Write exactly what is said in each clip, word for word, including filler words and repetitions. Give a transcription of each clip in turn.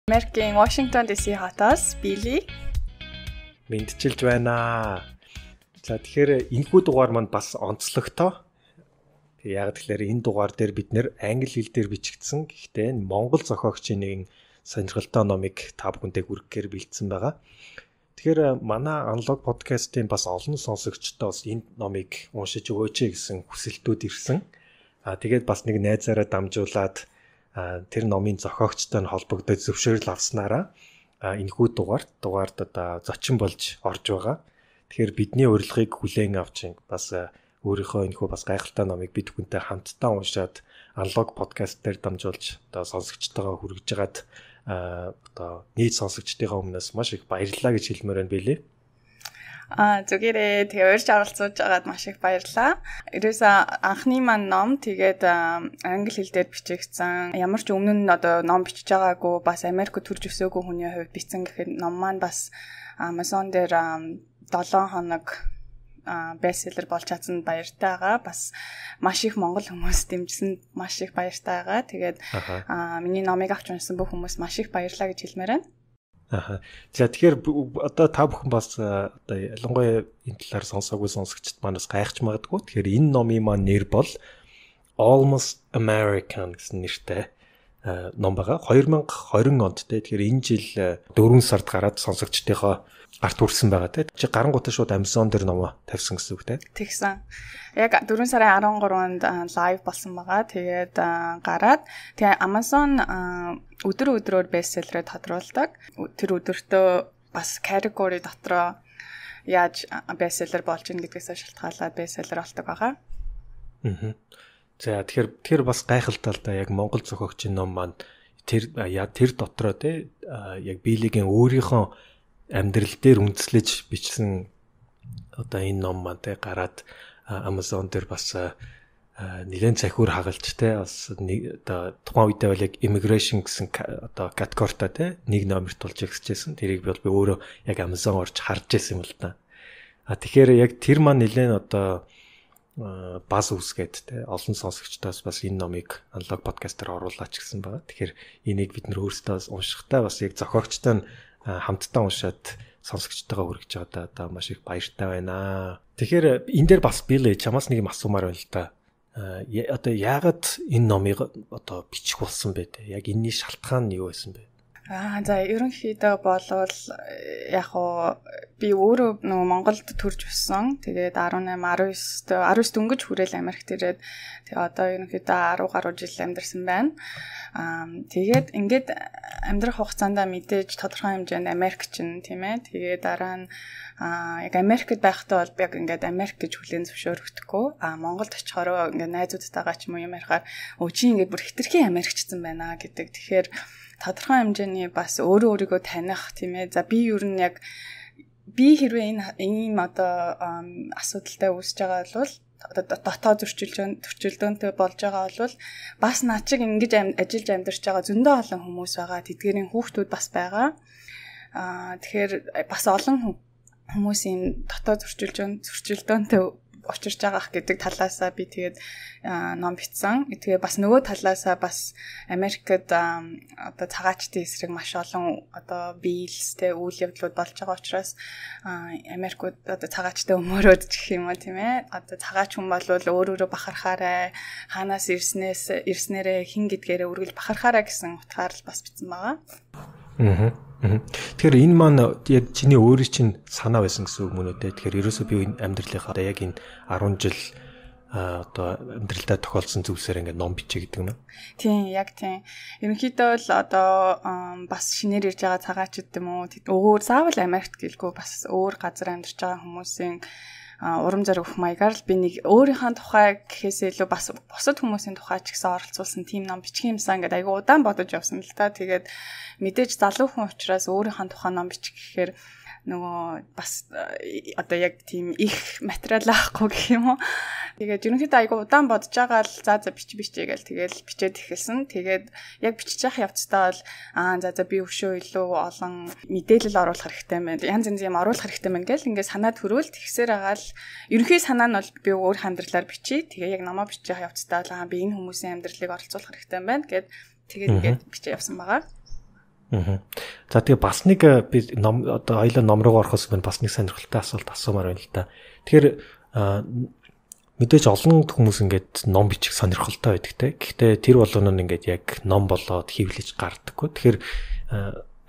Америкийн Washington ди си хотоос Билли мэдчилж байна. За тэгэхээр энэхүү дугаар манд бас онцлогтой. Яг тэгэхээр энэ дугаар дээр бид нэр англи хэл дээр бичигдсэн. Гэхдээ монгол зохиогчийн нэгэн сонирхолтой номыг та бүхэндээ хүргэхээр бэлдсэн байгаа. Тэгэхээр манай Unlock podcast-ийн бас олон сонсогчдоо бас энэ номыг уншиж өгөөч гэсэн хүсэлтүүд ирсэн. Аа тэгээд бас нэг найзаараа дамжуулаад тэр номын зохиогчтой нь холбогдож зөвшөөрөл авснараа энэхүү дугаарт дугаард одоо зочин болж орж байгаа. Тэгэхээр бидний урилгыг хүлээн авч бас өөрийнхөө энэхүү бас гайхалтай номыг бид бүхэнтэй хамтдаа уншаад Unlock podcast дээр дамжуулж одоо сонсогчтойгоо хүргэж байгаад одоо нийт сонсогчдынхаа өмнөөс маш их баярлалаа гэж хэлмээр байна билээ. А зүгээрээ тэгээ урьж оролцуулж байгаад маш их баярлалаа. Ерөөсөө анхны маань ном тэгээд англи хэл дээр бичигдсэн. Ямар ч өмнө нь одоо ном бичиж байгаагүй бас Америкт төрж өсөөгүй хүний хувьд бичсэн гэхэд ном маань бас Amazon дээр долоон хоног бестселлер болж чадсан баяртай байгаа. Бас маш их монгол хүмүүс дэмжсэн маш их баяртай байгаа. Тэгээд миний номыг авч уншсан бүх хүмүүс маш их баярлалаа гэж хэлмээр байна. Аа. За тэгэхээр одоо та бүхэн бас одоо ялангуяа энэ талаар сонсоогүй сонсогчд маань бас гайхаж магадгүй. Тэгэхээр энэ номын маань нэр бол Almost American гэсэн нэртэй ном байгаа. две тысячи двадцать онд те. Тэгэхээр энэ жил дөрвөн сард гараад сонсогчдынхоо гарт хүрсэн байгаа те. Чи гарангуутаа шууд Amazon дээр номоо тавьсан гэсэн үг те. Тэгсэн. Яг дөрвөн сарын арван гурванд лайв болсон байгаа. Тэгээд гараад тэгээ Amazon өдөр өдрөөр бестселлерээ тодруулдаг. Тэр өдөртөө бас category дотроо яаж бестселлер болж ийн гэдгээс шалтгаалаад бестселлер болдог байгаа. Аа. За тэгэхээр тэр бас гайхалтай л да яг монгол зохиогчийн ном маань тэр яг тэр дотроо те яг Билигийн өөрийнхөө амьдрал дээр үндэслэж бичсэн одоо энэ ном маань те гараад Amazon дээр бас нэлээд захиур хагалж те бас одоо тухайн үедээ бол яг immigration гэсэн одоо категоритой те нэг номерт болж ихсэжсэн. Тэрийг бол би өөрөө яг Amazon орж харж байсан юм л да. А тэгэхээр яг тэр маань нэлээд одоо баз үсгээд те олон сонсогчдоос бас энэ номыг Unlock podcast-аар оруулаач гэсэн байгаа. Тэгэхээр энийг бид нөр өөрсдөө уншихтаа бас яг зохиогчтой нь хамтдаа уншаад сонсогчтойгоо хүргэж байгаа одоо маш их баяртай байна. Тэгэхээр энэ дээр бас Билли чамаас нэг юм асуумаар байна л да. Одоо яагаад энэ номыг одоо бичих болсон бэ те? Яг энэний шалтгаан нь юу байсан бэ? Аа за ерөнхийдөө болвол яг уу би өөрөө нөгөө Монголд төрж өссөн. Тэгээд дөрвөн дөрвөн дөрвөн дөнгөж хүрээл Америкт ирээд тэгээ одоо ерөнхийдөө десять гаруй жил амьдарсан байна. Аа тэгээд ингээд амьдрах хугацаанд мэдээж тодорхой хэмжээнд Америкчин тийм ээ. Тэгээд дараа нь аа яг Америкт байхдаа бол яг ингээд Америк гэж хүлээн зөвшөөрөгдөхгүй. Аа Монголд очихороо ингээд найзуудтайгаа ч юм уу юм ярихаар өө чи ингээд бүр хитрхи Америкчсан байна гэдэг. Тэгэхээр тодорхой хэмжээний бас өөрөө өөрийгөө таних тийм ээ. За би ер нь яг би хэрвээ энэ ийм одоо асуудалтай үүсэж байгаа бол дотоод зөрчилдөөн төрчилдөөнтэй болж байгаа бол бас наа чиг ингэж ажиллаж амьдарч байгаа зөндөө олон хүмүүс байгаа. Тэдгэрийн хүүхдүүд бас байгаа. Аа тэгэхээр бас олон хүмүүсийн дотоод зөрчилдөөн зөрчилдөөнтэй учирч байгаах гэдэг талаасаа би тэгээд ном бичсэн. Тэгээ бас нөгөө талаасаа бас Америкт одоо цагаачтын эсрэг маш олон одоо биелстэй үйл явдлууд болж байгаа учраас Америкт одоо цагаачтай өмөрөөд гэх юм уу тийм ээ. Одоо цагаач хүн бол өөрөөрөө бахархаарай, хаанаас ирснээс ирснээрээ хин гэдгээрээ үргэлж бахархаарай гэсэн утгаар л бас бичсэн байгаа. Аа. Тэгэхээр энэ маань яг чиний өөрийн чинь санаа байсан гэсэн үг мөн үү те. Тэгэхээр ерөөсөө би энэ амьдралынхаа одоо яг энэ десять жил одоо амьдралдаа тохиолдсон зүйлсээр ингээд ном бичээ гэдэг нь. Тийм, яг тийм. Ерөнхийдөө л одоо бас шинээр ирж байгаа цагаачд юм уу өөр заавал Америкт гэлгүй бас өөр газар амьдарч байгаа хүмүүсийн урам зориг өгөх маягаар л би нэг өөрийнхөө тухай гэхээс илүү бас бусад хүмүүсийн тухай ч гэсэн оролцуулсан тийм ном бичих юмсан гэдэг айгу удаан бодож явсан л та. Тэгээд мэдээж залуу хүн учраас өөрийнхөө тухай ном бичих гэхээр нөгөө бас одоо яг тийм их материал авахгүй гэх юм уу. Тэгээд ерөнхийдөө айгу удаан бодож байгаа л за за бич бичээ гээл тэгэл бичээд эхэлсэн. Тэгээд яг бичиж явах явцдаа бол аа за за би өшөө илүү олон мэдээлэл оруулах хэрэгтэй байна. Янз янз юм оруулах хэрэгтэй байна гээл ингээд санаа төрөөл тэгсээр байгаа л ерөнхий санаа нь бол би өөр хандралаар бичиж тэгээ яг намаа бичиж явах явцдаа л аа би энэ хүмүүсийн амьдралыг оролцуулах хэрэгтэй байна гэд тэгээд ингээд бичиж явсан байгаа. За тэгээ бас нэг би ном одоо хоёлаа ном руу орохоос өмнө бас нэг сонирхолтой асуулт асуумаар байна л да. Тэгэхээр мэдээж олон хүмүүс ингээд ном бичих сонирхолтой байдаг те. Гэхдээ тэр болгоно нь ингээд яг ном болоод хөвлөж гардаггүй. Тэгэхээр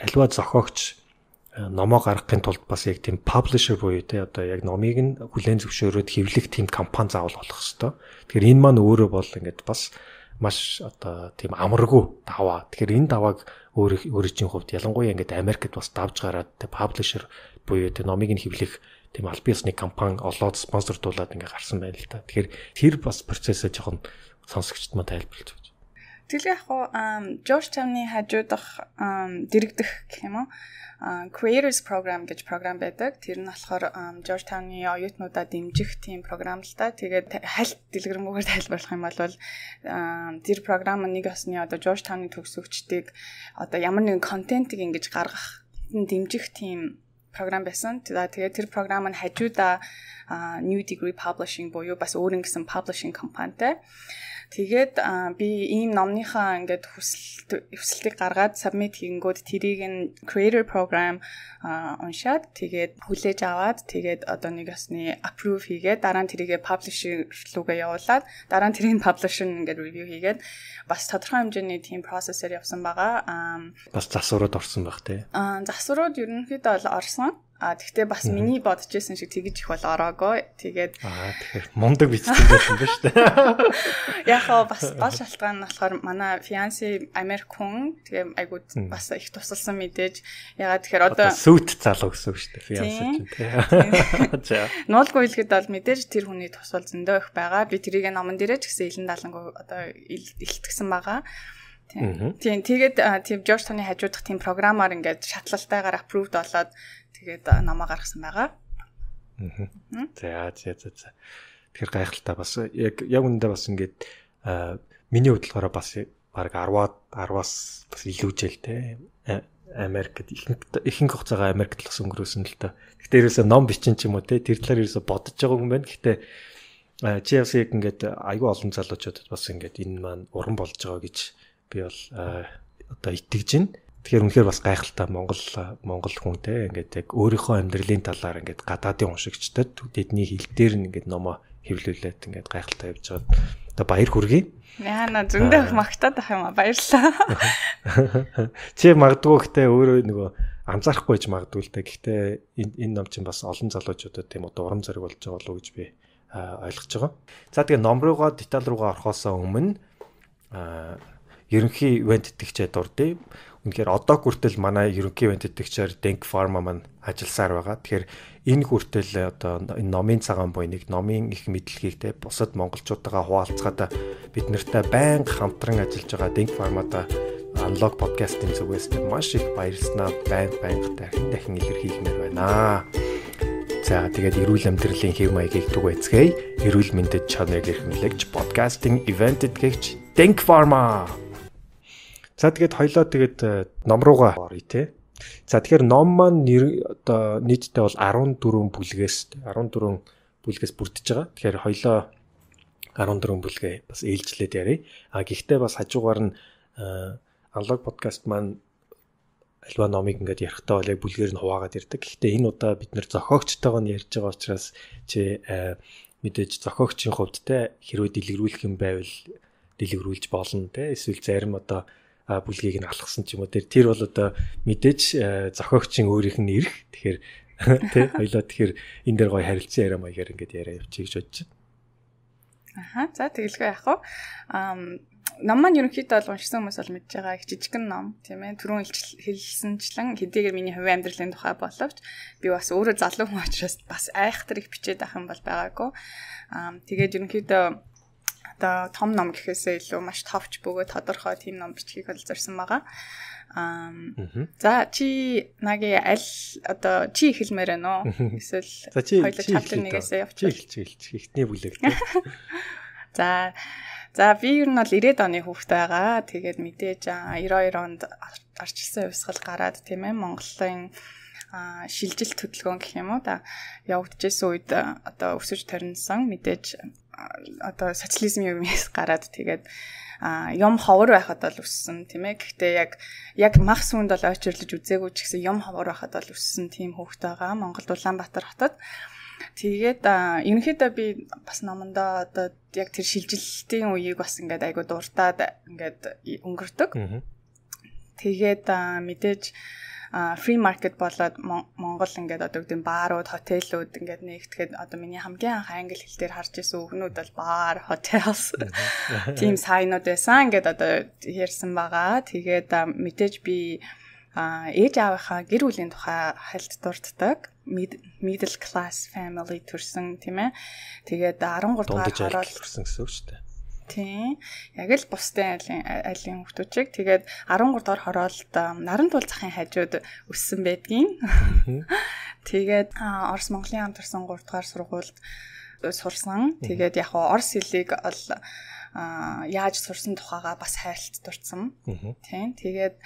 альва зохиогч номоо гаргахын тулд бас яг тийм publisher буюу те одоо яг номыг нь хүлээн зөвшөөрөөд хэвлэх тийм компани заавал болох хэвээр. Тэгэхээр энэ маань өөрөө бол ингээд бас маш одоо тийм амаргүй даваа. Тэгэхээр энэ давааг өөр өөрийн хувьд ялангуяа ингээд Америкт бас давж гараад те publisher буюу те номыг нь хэвлэх тийм аль биесны компани олоод спонсордуулаад ингээд гарсан байна л та. Тэгэхээр тэр бас процессыг жоохон сонсогчд маа тайлбарлаж өгч. Тэгэл яг хоо Georgetown-ы хажуудах дэрэгдэх гэх юм уу? Creators Program гэж програм байдаг. Тэр нь болохоор Georgetown-ы оюутнуудаа дэмжих тийм програм л та. Тэгээд хальт дэлгэрэнгээр тайлбарлах юм бол тэр програм нэг осны одоо Georgetown-ы төгсөгчдийг одоо ямар нэгэн контентыг ингэж гаргах дэмжих тийм програм байсан. Тэгээд тэр програм нь хажуудаа New Degree Publishing буюу бас өөр нэгэн publishing компанитай. Тэгээд би ийм номныхаа ингээд хүсэлт хүсэлтийг гаргаад submit хийнгүүд тэрийг нь creator program уншаад тэгээд хүлээж аваад тэгээд одоо нэг осны approve хийгээд дараа нь тэрийг publisher руугаа явуулаад дараа нь тэрийг publisher ингээд review хийгээд бас тодорхой хэмжээний team process-ээр явсан байгаа. Бас засварууд орсон байх тий. Аа засварууд ерөнхийдөө бол орсон. А тэгтээ бас миний бодож байсан шиг тэгэж их бол ороогүй. Тэгээд аа тэгэхээр мундаг бичсэн байсан ба шүү дээ. Яг гоо бас гол шалтгаан нь болохоор манай fiancé Америк хүн тэгээ айгуу бас их тусалсан мэдээж. Ягаад тэгэхээр одоо сүт залуу гэсэн үг шүү дээ fiancé чинь тий. Нуулгүй хэлгээд бол мэдээж тэр хүний тусал зөндөө их байгаа. Би тэрийг номон дээрээ ч гэсэн илэн далангуу одоо илтгэсэн байгаа. Тийм тэгээд тийм Georgetown-ы хажуудах тийм програмаар ингээд шатлалтайгаар approved болоод тэгээд намаа гаргасан байгаа. За за за за. Тэгэхээр гайхалтай бас яг яг үүндээ бас ингээд миний бодлохоор бас баг десять десять-аас бас илүүжэл те. Америкт ихэнх хугацаагаа Америкт л өнгөрөөсөн л та. Гэхдээ ерөөсөө ном бичин ч юм уу те. Тэр талаар ерөөсөө бодож байгаа юм байна. Гэхдээ чи бас яг ингээд аюу олон залуучуудад бас ингээд энэ маань уран болж байгаа гэж би бол одоо итгэж байна. Тэгэхээр үнэхээр бас гайхалтай Монгол Монгол хүн те ингээд яг өөрийнхөө амьдралын талаар ингээд гадаадын уншигчдад тэдний хэл дээр нь ингээд номоо хэвлүүлээд ингээд гайхалтай явж байгаа. Одоо баяр хүргэе. Яна зөндөө магтаад ах юм а баярлалаа. Чи магадгүй гэхдээ өөрөө нөгөө анзаарахгүй ч магадгүй л та. Гэхдээ энэ энэ ном чинь бас олон залуучуудад тийм одоо урам зориг болж байгаа болов уу гэж би ойлгож байгаа. За тэгээ ном руугаа деталь руугаа орохоос өмнө ерөнхий ивент итгэгчээ дурдъя. Үнэхээр одоо хүртэл манай ерөнхий ивент итгэгчээр Denk Pharma маань ажилласаар байгаа. Тэгэхээр энэ хүртэл одоо энэ номын цагаан буйныг номын их мэдлэгийг те бусад монголчуудаа хуваалцгаад бид нартай байнга хамтран ажиллаж байгаа Denk Pharma-да Unlock podcast-ийн зүгээс маш их баярлснаа байнга байнга дахин дахин илэрхийлмээр байна. За тэгээд эрүүл амьдралын хэв маягийг түгээцгээе. Эрүүл мэндэд чанарыг эрхэмлэгч подкастинг ивент итгэгч Denk Pharma. За тэгээд хоёлоо тэгээд ном руугаа оръё те. За тэгэхээр ном маань одоо нийтдээ бол арван дөрвөн бүлгээс арван дөрвөн бүлгээс бүрдэж байгаа. Тэгэхээр хоёлоо арван дөрвөн бүлгээ бас ээлжлээд ярив. А гэхдээ бас хажуугаар нь Unlock podcast маань альва номыг ингээд ярихдаа бол яг бүлгээр нь хуваагаад ирдэг. Гэхдээ энэ удаа бид нэр зохиогчтойгоо нь ярьж байгаа учраас чи мэдээж зохиогчийн хувьд те хэрвээ дэлгэрүүлэх юм байвал дэлгэрүүлж болно те. Эсвэл зарим одоо бүлгийг нь алгасан ч юм уу тэр тэр бол одоо мэдээж зохиогчийн өөрийнх нь ирэх. Тэгэхээр тий хоёлаа тэгэхээр энэ дээр гоё харилцан яриа маягаар ингээд яриа явчих гэж бодож байна. Аха за тэгэлгүй яах вэ? Ам ном маань ерөнхийдөө бол уншсан хүмүүс бол мэдж байгаа их жижигхэн ном тийм ээ. Түрүүн хэлсэнчлэн хэдийгээр миний хувийн амьдралын тухай боловч би бас өөрөө залуу хүн учраас бас айхтар их бичээд авах юм бол байгаагүй. Ам тэгээд ерөнхийдөө одоо том ном гэхээсээ илүү маш товч бөгөөд тодорхой тийм ном бичгийг бол зорьсон байгаа. Аа за чи наги аль одоо чи хэлмээр байна уу? Эсвэл хоёул чаптер нэгээсээ явчих. Чи хэлчих ихний бүлэг. За за би ер нь бол ирээд оны хүүхдтэй байгаа. Тэгээд мэдээж девяносто онд арчилсан хувьсгал гараад тийм ээ Монголын шилжилт хөдөлгөөн гэх юм уу да явагдажсэн үед одоо өсөж төрнсөн мэдээж одоо социализм юмээс гараад тэгээд а юм ховор байхад бол өссөн тийм ээ. Гэхдээ яг яг мах сүнд бол очирлож үзээгүй ч гэсэн юм ховор байхад бол өссөн тийм хүүхэд байгаа. Монголд Улаанбаатар хотод. Тэгээд ерөнхийдөө би бас номондоо одоо яг тэр шилжилтийн үеийг бас ингээд айгу дуртаад ингээд өнгөрдөг. Тэгээд мэдээж free market болоод Монгол ингээд одоо гэдэг баарууд, хотелууд ингээд нэгтгэхэд одоо миний хамгийн анх англи хэл дээр харж ирсэн үгнүүд бол баар, hotels тийм сайнууд байсан. Ингээд одоо ярьсан байгаа. Тэгээд мэдээж би ээж аавынхаа гэр бүлийн тухай хальт дурддаг. Middle class family төрсэн тийм ээ. Тэгээд арван гурав дахь ороод төрсэн гэсэн үг шүү дээ. Тийм. Яг л бусдын айлын айлын хүмүүсийг тэгээд арван гурав дахь хороолт Нарантуул захын хажууд өссөн байдгийн. Тэгээд Орос Монголын хамт төрсэн гурав дахь сургуульд сурсан. Тэгээд яг Орос хэлийг ол яаж сурсан тухайга бас хайрлт дурдсан. Тийм. Тэгээд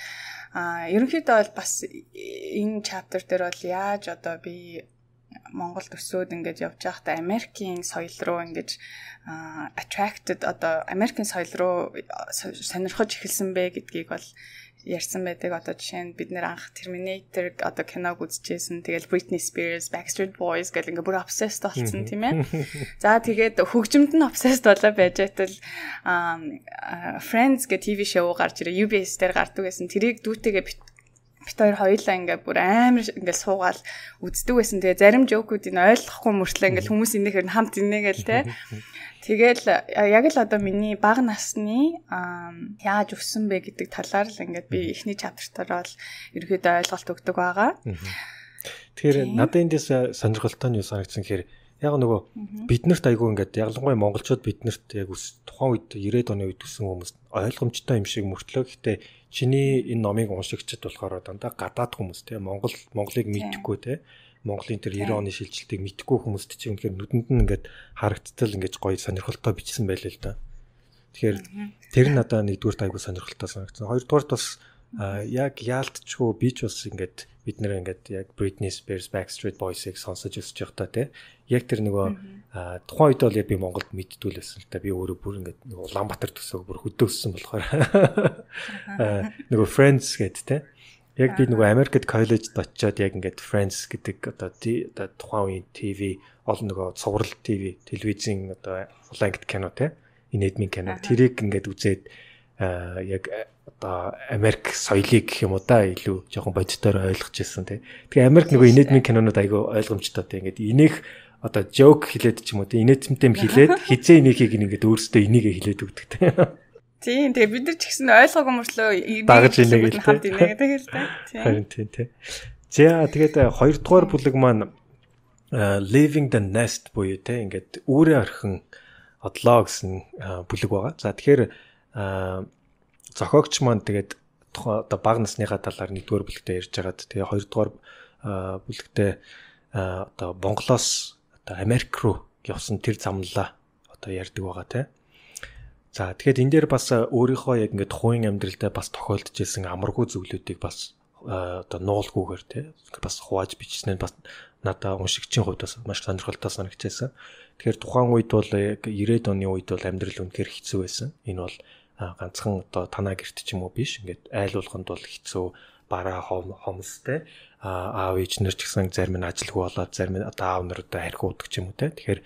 ерөнхийдөө бол бас энэ chapter дээр бол яаж одоо би Монголд өсөөд ингэж явж байхдаа Америкийн соёл руу ингэж attracted одоо Америкийн соёл руу сонирхож эхэлсэн бэ гэдгийг бол ярьсан байдаг. Одоо жишээ нь бид нэр анх Terminator одоо киног үзчихсэн. Тэгэл Britney Spears, Backstreet Boys гэл ингээ бүр obsessed болсон тийм ээ. За тэгээд хөгжимд нь obsessed болоо байж байтал Friends гэх ти ви шоу гарч ирээ. ю би эс дээр гардаг байсан. Тэрийг дүүтэйгээ бит хоёр хоёулаа ингээ бүр амар ингээ суугаал үздэг байсан. Тэгээ зарим жокуудыг ойлгохгүй мөртлөө ингээ хүмүүс инээхээр хамт инээгээл те. Тэгэл яг л одоо миний бага насны яаж өссөн бэ гэдэг талаар л ингээ би эхний чаптартаар бол ерөөдөө ойлголт өгдөг байгаа. Тэгэхээр надад эндээс сонирхолтой нь юу санагдсан гэхээр яг нөгөө биднэрт айгүй ингээд ялангуяа монголчууд биднэрт яг тухайн үед ирээд оны үед өссөн хүмүүс ойлгомжтой юм шиг мөртлөө гэхдээ чиний энэ номыг уншигчд болохоор дандаа гадаад хүмүүс те Монгол Монголыг мэдхгүй те Монголын тэр девяносто оны шилжилтийг мэдхгүй хүмүүст чинь үнэхээр нүдэнд нь ингээд харагдтал ингээд гоё сонирхолтой бичсэн байлээ л да. Тэгэхээр тэр нь надаа нэгдүгээр айгүй сонирхолтой санагдсан. Хоёрдугаарт бас яг яалтчгүй би ч бас ингээд бид нэр ингээд яг Britney Spears, Backstreet Boys-ыг сонсож өсөж явахдаа те яг тэр нөгөө тухайн үед бол яг би Монголд мэддгүй л байсан л та би өөрөө бүр ингээд нөгөө Улаанбаатар төсөөг бүр хөдөө өссөн болохоор нөгөө Friends гэдэг те яг би нөгөө Америкт коллежд очиод яг ингээд Friends гэдэг одоо тухайн үеийн ти ви олон нөгөө цуврал ти ви телевизийн одоо улаан ангит кино те инэдмийн кино тэрийг ингээд үзээд яг одоо Америк соёлыг гэх юм уу да илүү жоохон бодитоор ойлгож ирсэн тий. Тэгээ Америк нөгөө инэдмийн кинонууд айгүй ойлгомжтой тий. Ингээд инех одоо joke хэлээд ч юм уу тий. Инэдмтэй хэлээд хизээ инехийг ингээд өөрөөсөө инээгээ хэлээд өгдөг тий. Тийм тэгээ бид нар ч гэсэн ойлгоогүй мөртлөө дагаж инээгээл хамт инээгээд л тий. Харин тий тий. За тэгээд хоёрдугаар бүлэг маань Leaving the Nest буюу тий ингээд үүрээ орхин одлоо гэсэн бүлэг байгаа. За тэгэхээр зохиогч маань тэгээд одоо бага насныхаа талаар нэгдүгээр бүлэгтээ ярьж байгаад тэгээ хоёрдугаар бүлэгтээ одоо Монголоос одоо Америк руу явсан тэр замлаа одоо ярьдаг байгаа тий. За тэгэхээр энэ дээр бас өөрийнхөө яг ингээд хувийн амьдралдаа бас тохиолдож ирсэн амаргүй зүйлүүдийг бас одоо нуулгүйгээр тий бас хувааж бичсэн нь бас надаа уншигчийн хувьд бас маш сонирхолтой санагдчихсан. Тэгэхээр тухайн үед бол яг девяносто оны үед бол амьдрал үнэхээр хэцүү байсан. Энэ бол ганцхан одоо танаа гэрт ч юм уу биш. Ингээд айл болгонд бол хэцүү бараа хомстэй аав ээж нар ч гэсэн зарим нь ажилгүй болоод зарим нь одоо аав нар одоо харьхуудаг ч юм уу те. Тэгэхээр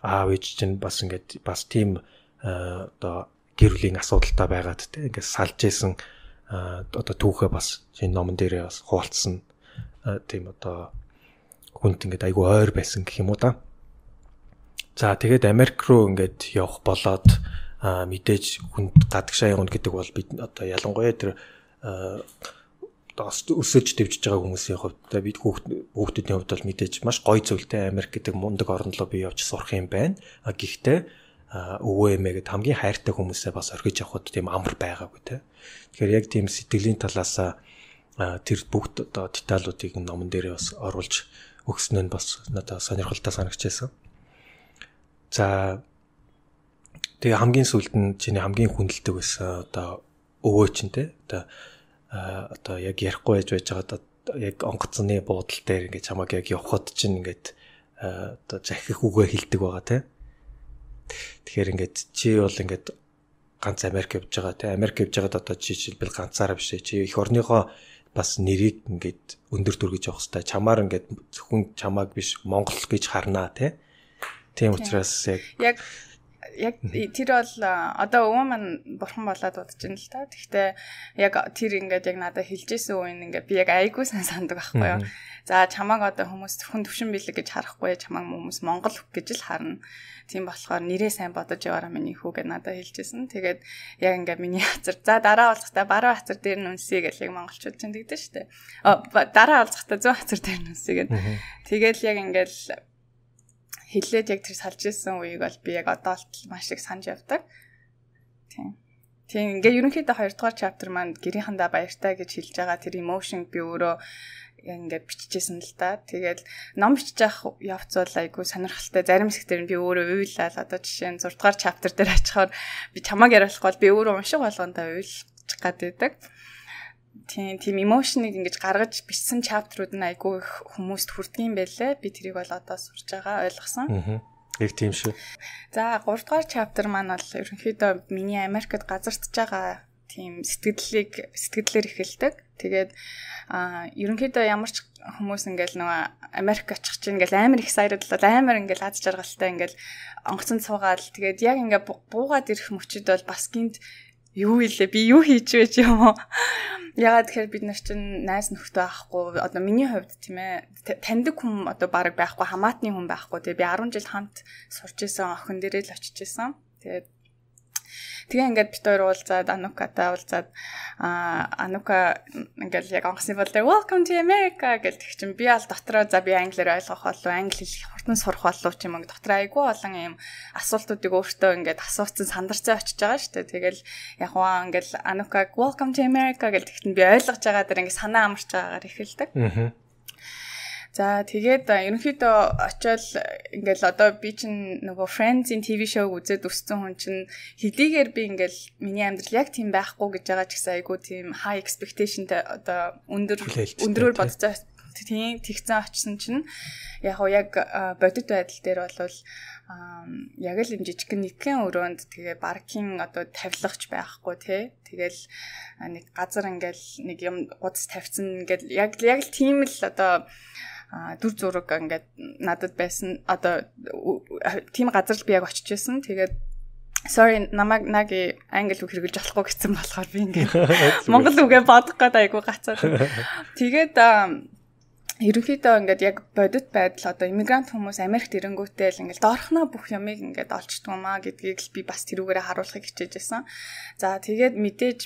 аав ээж чинь бас ингээд бас тийм одоо гэр бүлийн асуудалтай байгаад те. Ингээд салж исэн одоо түүхээ бас энэ номон дээрээ бас хуваалцсан тийм одоо хүнд ингээд айгүй ойр байсан гэх юм уу да. За тэгээд Америк руу ингээд явах болоод а мэдээж хүнд гадагшаа явна гэдэг бол бид одоо ялангуяа тэр одоо өсөж дэвжиж байгаа хүмүүсийн хувьд бид хүүхдүүдийн хувьд бол мэдээж маш гоё зүйлтэй Америк гэдэг мундаг орн руу би явж сурах юм байна. А гэхдээ өвөө эмээгээд хамгийн хайртай хүмүүсээ бас орхиж явхад тийм амар байгаагүй те. Тэгэхээр яг тийм сэтгэлийн талаас тэр бүгд одоо деталуудыг номон дээрээ бас оруулж өгснөө нь бас надад сонирхолтой санагчээсэн. За тэгээ хамгийн сүүлд нь чиний хамгийн хүндэлдэг байсан одоо өвөө чинь те одоо одоо яг ярихгүй байж байж байгаа яг онгоцны буудал дээр ингээд чамаг яг явхад чинь ингээд одоо захих үгээ хэлдэг байгаа те Тэгэхээр ингээд чи бол ингээд ганц Америк явж байгаа те Америк явж байгаад одоо чи жишээлбэл ганцаараа биш чи эх орныхоо бас нэрийг ингээд өндөр дүргэж явах хэрэгтэй. Чамаар ингээд зөвхөн чамааг биш Монгол гэж харнаа те. Тийм учраас яг яг яг тэр бол одоо өвөө маань бурхан болоод удаж байна л та. Гэхдээ яг тэр ингээд яг надад хэлжсэн үеийн ингээд би яг айгуу сан сандаг байхгүй юу. За чамааг одоо хүмүүс зөвхөн төвшин бэлэг гэж харахгүй чамааг хүмүүс Монгол хөх гэж л харна. Тийм болохоор нэрээ сайн бодож яваараа миний хүү гэж надад хэлжсэн. Тэгээд яг ингээд миний хацар за дараа уулзахтаа баруун хацар дээр нүнсэй гэж яг монголчууд ч тэгдэг шүү дээ. Дараа уулзахтаа зүүн хацар дээр нүнсэй гэж. Тэгээд яг ингээд хэлээд яг тэр салж ирсэн үеийг бол би яг одоо л маш их санаж явдаг. Тийм. Тийм ингээ ерөнхийдөө хоёр дахь chapter маань гэрийнхандаа баяртай гэж хэлж байгаа тэр emotion би өөрөө ингээ биччихсэн л та. Тэгээд ном бичиж явах явц бол айгүй сонирхолтой. Зарим хэсгээр би өөрөө уйлал одоо жишээ нь зург дахь chapter дээр очихоор би чамааг яриулахгүй бол би өөрөө уншиг болгондоо уйлчих гад байдаг. Тийм тийм emotion-ыг ингэж гаргаж бичсэн chapter-ууд нь айгүй их хүмүүст хүрдэг юм байлээ. Би тэрийг бол одоо сурж байгаа ойлгосон. Аа. Яг тийм шүү. За гурав дахь chapter маань бол ерөнхийдөө миний Америкт газардж байгаа тийм сэтгэлдлийг сэтгэлдлээр эхэлдэг. Тэгээд аа ерөнхийдөө ямар ч хүмүүс ингээл нөгөө Америк очих чинь ингээл амар excited л амар ингээл аз жаргалтай ингээл онгоцон цуугаал тэгээд яг ингээ буугаад ирэх мөчөд бол бас гинт юу илээ би юу хийж вэ ч юм уу. Ягаад тэгэхээр бид нар чинь найз нөхдөд байхгүй одоо миний хувьд тийм ээ таньдаг хүн одоо баг байхгүй хамаатны хүн байхгүй тэгээ би арван жил хамт сурч исэн охин дээрээ л очиж исэн. Тэгээд тэгээ ингээд бид хоёр уулзаад Анукатай уулзаад аа Анука ингээд яг онгоцны бол дээр welcome to America гэж тэг чинь би аль дотроо за би англиар ойлгох болов англи хэл хурдан сурах болов ч юм уу дотроо айгүй олон юм асуултуудыг өөртөө ингээд асууцсан сандарцаа очиж байгаа шүү дээ. Тэгэл яг хаа ингээд Анука welcome to America гэж тэгтэн би ойлгож байгаа дээр ингээд санаа амарч байгаагаар эхэлдэг. Аа. За тэгээд ерөнхийдөө очиод ингээл одоо би чинь нөгөө Friends-ийн ти ви шоуг үзээд өссөн хүн чинь хэдийгээр би ингээл миний амьдрал яг тийм байхгүй гэж байгаа ч гэсэн айгүй тийм high expectationтэй одоо өндөр өндөрөөр бодцоо тийм тэгцэн очсон чинь яг уу яг бодит байдал дээр бол яг л юм жижигхэн нэгэн өрөөнд тэгээ паркинг одоо тавилгач байхгүй тий. Тэгэл нэг газар ингээл нэг юм гудас тавьсан ингээл яг яг л тийм л одоо а дүр зураг ингээд надад байсан одоо тийм газар л би яг очиж байсан. Тэгээд sorry намайг наги англи үг хэрэглэж болохгүй гэсэн болохоор би ингээд монгол үгээ бодох гээд айгу гацаад. Тэгээд ерөнхийдөө ингээд яг бодит байдал одоо иммигрант хүмүүс Америкт ирэнгүүтээ л ингээд доорхноо бүх юмыг ингээд олчдөг юм аа гэдгийг л би бас тэрүүгээрээ харуулахыг хичээж байсан. За тэгээд мэдээж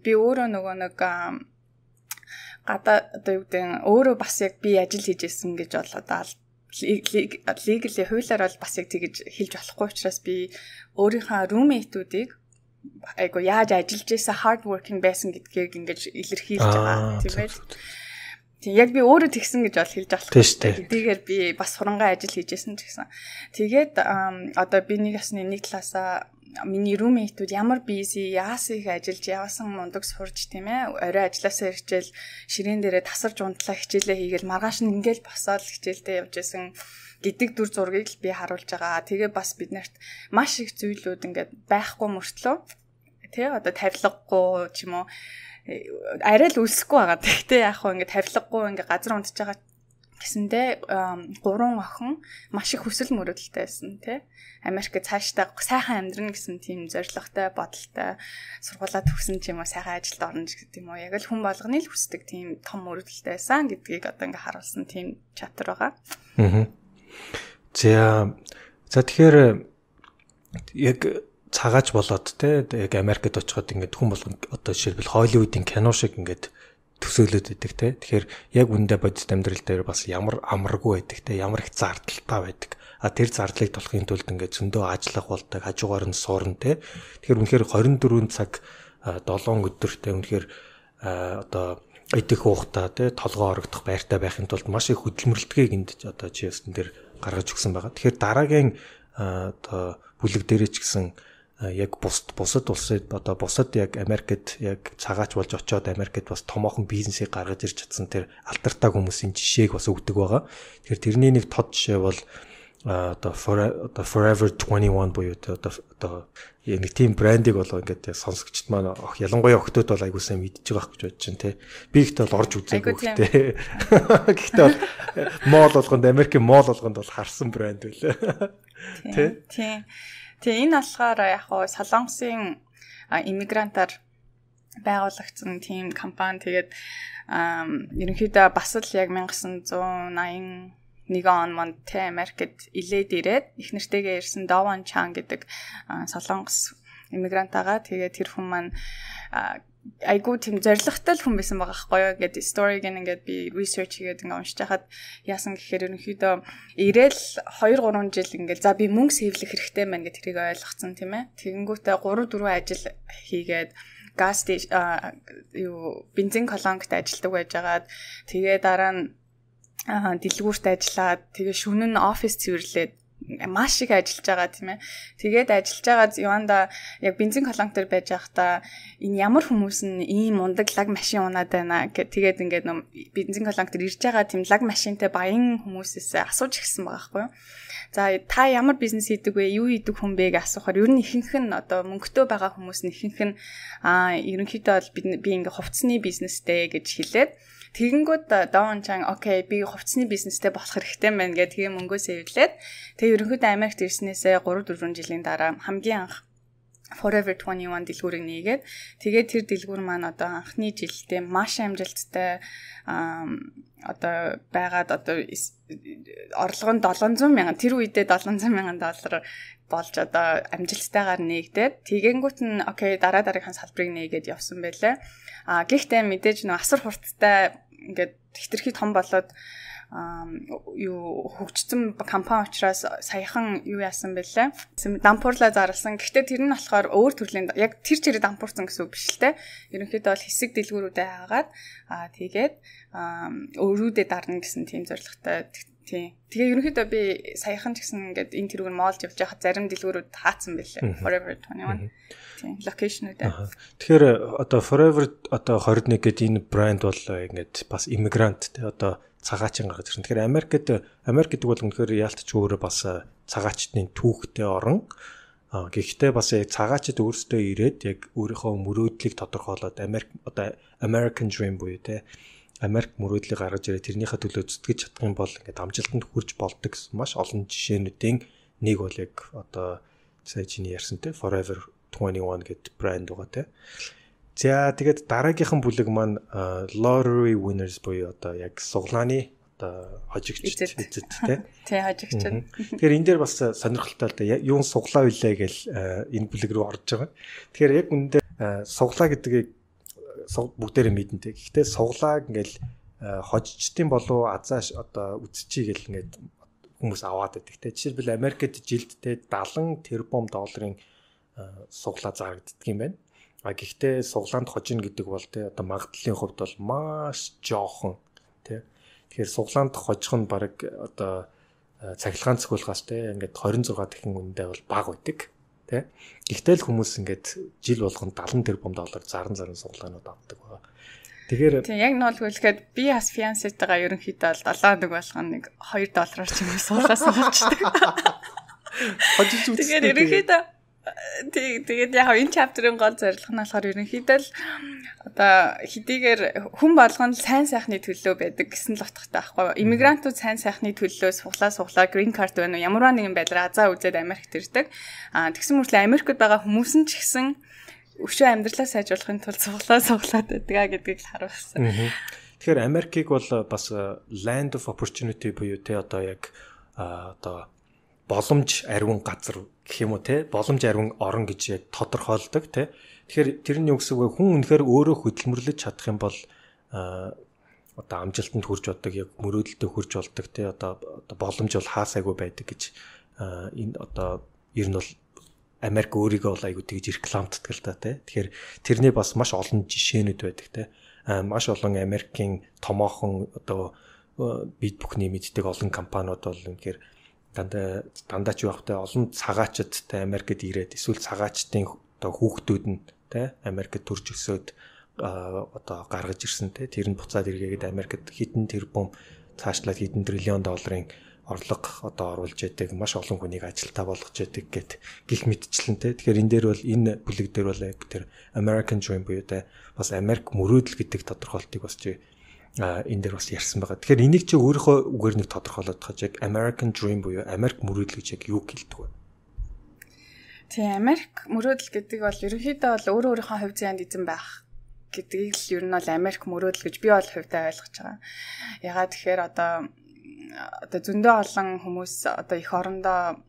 би өөрөө нөгөө нэг гадаа одоо юу гэдэг өөрөө бас яг би ажил хийж ирсэн гэж бол одоо legally хуулиар бол бас яг тэгж хэлж болохгүй учраас би өөрийнхөө roommate-уудыг айгу яаж ажиллаж байсан hard working байсан гэдгийг ингэж илэрхийлж байгаа тийм ээ. Тийм яг би өөрөө тэгсэн гэж бол хэлж болохгүй. Хэдийгээр би бас хурангаа ажил хийж ирсэн ч гэсэн. Тэгээд одоо би нэг ясны нэг талаасаа миний roommate-ууд ямар busy яасан их ажиллаж явсан мундаг сурж тийм ээ орой ажилласаа ирчээл ширээн дээрээ тасарч унтлаа хичээлээ хийгээл маргааш нь ингээл босоод хичээлдээ явж исэн гэдэг дүр зургийг л би харуулж байгаа. Тэгээ бас биднэрт маш их зүйлүүд ингээд байхгүй мөртлөө тий одоо тавилгагүй ч юм уу арай л үлсэхгүй байгаа. Тэгтээ яг хөө ингээд тавилгагүй ингээд газар унтж байгаа гэсэндээ гурван охин маш их хүсэл мөрөөдөлтэй байсан тий Америкт цаашдаа сайхан амьдрна гэсэн тийм зорилготой бодолтой сургуулаа төгсөн ч юм уу сайхан ажилд орно гэдэг юм уу яг л хүн болгоны л хүсдэг тийм том мөрөөдөлтэй байсан гэдгийг одоо ингээ харуулсан тийм чаптер байгаа. Аа. За за тэгэхээр яг цагаач болоод те яг Америкт очиход ингээд хүн болгон одоо жишээлбэл Холливуудын кино шиг ингээд төсөөлөд байдаг те. Тэгэхээр яг үндэ бодит амьдрал дээр бас ямар амаргүй байдаг те. Ямар их зардалтай байдаг. А тэр зардлыг толохын тулд ингээд зөндөө ажиллах болдог, хажуугаар нь суурна те. Тэгэхээр үнэхээр хорин дөрвөн цаг долоон өдөртэй үнэхээр одоо идэх уухтаа те толгоо орогдох байртай байхын тулд маш их хөдөлмөрлөлтгийг энд одоо чи ястан дээр гаргаж өгсөн байгаа. Тэгэхээр дараагийн одоо бүлэг дээрээ ч гэсэн яг бус бусад улсад одоо бусад яг Америкт яг цагаач болж очиод Америкт бас томоохон бизнесийг гаргаж ирж чадсан тэр алдартай хүмүүсийн жишээг бас өгдөг байгаа. Тэгэхээр тэрний нэг тод жишээ бол одоо одоо Forever twenty-one буюу одоо одоо нэг тийм брендийг болоо ингээд сонсогчд маань ялангуяа охтууд бол айгуу сайн мэдж байгаа гэж бодож чинь тий. Би ихтэй бол орж үзээгүй гэхдээ. Гэхдээ бол моол болгонд Америкийн моол болгонд бол харсан брэнд байлаа. Тий. Тий. Тэгээ энэ болохоор яг хоо Солонгосын иммигрантаар байгуулагдсан тийм компани. Тэгээд ерөнхийдөө бас л яг nineteen eighty нэг он манд тэ Америкт илээд ирээд их нэртэйгээ ирсэн Даван Чан гэдэг солонгос иммигрант байгаа. Тэгээд тэр хүн маань айгуу тийм зоригтой хүн байсан байгаа байхгүй юу гэдэг story гэн ингээд би research хийгээд ингээд уншиж хахад яасан гэхээр ерөнхийдөө ирээл two three жил ингээд за би мөнгө сэвлэх хэрэгтэй байна гэж тэрийг ойлгоцсон тийм ээ. Тэгэнгүүтээ three four ажил хийгээд газ юу бензин колонкт ажилладаг байжгаад тэгээ дараа нь Аа дэлгүүрт ажиллаад тэгээ шөнө нь офис цэвэрлээд маш их ажиллаж байгаа тийм ээ. Тэгээд ажиллаж байгаа юанда яг бензин колонк дээр байж байхдаа энэ ямар хүмүүс нь ийм мундаг лаг машин унаад байна гэх тэгээд ингээд бензин колонк дээр ирж байгаа тийм лаг машинтай баян хүмүүсээс асууж ирсэн байгаа байхгүй юу. За та ямар бизнес хийдэг вэ? Юу хийдэг хүн бэ гэж асуухаар ер нь ихэнх нь одоо мөнгөтэй байгаа хүмүүс нь ихэнх нь аа ерөнхийдөө бол би ингээ хувцсны бизнестэй гэж хэлээд тэгэнгүүт Даван Чан окей би хувцсны бизнестэй болох хэрэгтэй байна гэх тэгээ мөнгөө сэвлээд тэгээ ерөнхийдөө Америкт ирснээсээ three four жилийн дараа хамгийн анх Forever twenty-one дэлгүүрийг нээгээд тэгээд тэр дэлгүүр маань одоо анхны жилдээ маш амжилттай одоо байгаад одоо орлого нь seven hundred сая тэр үедээ seven hundred сая доллар болж одоо амжилттайгаар нээгдээд тэгэнгүүт нь окей дараа дараагийн салбарыг нээгээд явсан байлаа. А гэхдээ мэдээж нөө асар хурдтай ингээд хэтэрхий том болоод юу хөгжсөн компани учраас саяхан юу яасан бэлээ. Дампуурлаа зарласан. Гэхдээ тэр нь болохоор өөр төрлийн яг тэр чирээ дампуурсан гэсэн үг биш л те. Ерөнхийдөө бол хэсэг дэлгүүрүүдэд хаагаад аа тэгээд өөрүүдээ дарна гэсэн тийм зорилготой. Тийм. Тэгээ ерөнхийдөө би саяхан ч гэсэн ингээд энэ тэрүүг нь моолж явж байхад зарим дэлгүүрүүд хаацсан байлээ. Forever twenty-one. Тийм. Локейшнүүдээ. Тэгэхээр одоо Forever одоо twenty-one гэдэг энэ брэнд бол ингээд бас иммигрант те одоо цагаачин гаргаж ирсэн. Тэгэхээр Америкт Америк гэдэг бол үнэхээр яалтч өөрөө бас цагаачдын түүхтэй орон. Гэхдээ бас яг цагаачд өөрсдөө ирээд яг өөрийнхөө мөрөөдлийг тодорхойлоод Америк одоо American Dream буюу те Америк мөрөөдлийг гаргаж ирээд тэрнийхээ төлөө зүтгэж чадах юм бол ингээд амжилтанд хүрч болдог гэсэн маш олон жишээнүүдийн нэг бол яг одоо сая чиний ярьсантай Forever twenty-one гэдэг брэнд байгаа те. За тэгээд дараагийнхан бүлэг маань lottery winners буюу одоо яг суглааны одоо хожигчд эзэд те. Тэ хожигчд. Тэгэхээр энэ дээр бас сонирхолтой л да юун суглаа вүлээ гэл энэ бүлэг рүү орж байгаа. Тэгэхээр яг үндэ суглаа гэдгийг бүгдээрээ мэдэнтэй. Гэхдээ суглааг ингээл хожигчдын болов азааш одоо үсчий гэл ингээд хүмүүс аваад байдаг те. Жишээлбэл Америкт жилдтэй seventy тэрбум долларын суглаа зарагддаг юм байна. А гэхдээ суглаанд хожино гэдэг бол те одоо магадлалын хувьд бол маш жоохон те. Тэгэхээр суглаанд хожих нь баг одоо цахилгаан цохиулгаас те ингээд twenty-six дахин үнэтэй бол бага байдаг те. Гэхдээ л хүмүүс ингээд жил болгонд seventy тэрбум доллар заран заран суглаанууд авдаг байгаа. Тэгэхээр тийм яг нь бол хэлэхэд би бас финанситайгаа ерөнхийдөө бол seven болгоно нэг two доллараар ч юм уу суглаа сугалждаг. Хожиж үзсэн. Тэгэхээр ерөнхийдөө тэгээд яг энэ chapter-ын гол зорилго нь болохоор ерөнхийдөө л одоо хэдийгээр хүн болгоно сайн сайхны төлөө байдаг гэсэн л утгатай байхгүй юу? Иммигрантууд сайн сайхны төлөө суглаа суглаа green card байна уу? Ямарваа нэгэн байдлаар азаа үзээд Америкт ирдэг. Аа тэгсэн мөртлөө Америкт байгаа хүмүүс нь ч гэсэн өшөө амьдралаа сайжруулахын тулд суглаа суглаад байдгаа гэдгийг л харуулсан. Тэгэхээр Америкийг бол бас land of opportunity буюу те одоо яг одоо боломж ариун газар гэх юм уу те боломж ариун орон гэж яг тодорхойлдог те. Тэгэхээр тэр нь юу гэсэн үг вэ? Хүн үнэхээр өөрөө хөдөлмөрлөж чадах юм бол одоо амжилтанд хүрч болдог, яг мөрөөдөлтөд хүрч болдог те одоо боломж бол хаасайгүй байдаг гэж энэ одоо ер нь бол Америк өөрийгөө бол айгуу тэгж рекламддаг л та те. Тэгэхээр тэрний бас маш олон жишээнүүд байдаг те. Маш олон Америкийн томоохон одоо бид бүхний мэддэг олон компаниуд бол үнэхээр дандаа дандаа ч явахтай олон цагаачдтай Америкт ирээд эсвэл цагаачдын одоо хүүхдүүд нь те Америкт төрж өсөөд одоо гаргаж ирсэн те тэр нь буцаад эргээгээд Америкт хэдэн тэрбум цаашлаад хэдэн триллион долларын орлого одоо оруулж яадаг маш олон хүнийг ажилтаа болгож яадаг гэт гих мэдчлэнтэй. Тэгэхээр энэ дээр бол энэ бүлэг дээр бол яг тэр American Dream буюу тэ бас Америк мөрөөдөл гэдэг тодорхойлтыг бас чи энэ дээр бас ярьсан байгаа. Тэгэхээр энийг чи өөрийнхөө үгээр нэг тодорхойлоод тахаж яг American Dream буюу Америк мөрөөдөл гэж яг юу хэлдэг вэ? Тийм, Америк мөрөөдөл гэдэг бол ерөнхийдөө бол өөрөө өөрийнхөө хувь заяанд эзэн байх гэдгийг л ер нь бол Америк мөрөөдөл гэж би бол хувьдаа ойлгож байгаа. Ягаад тэгэхээр одоо одоо зөндөө олон хүмүүс одоо их орондоо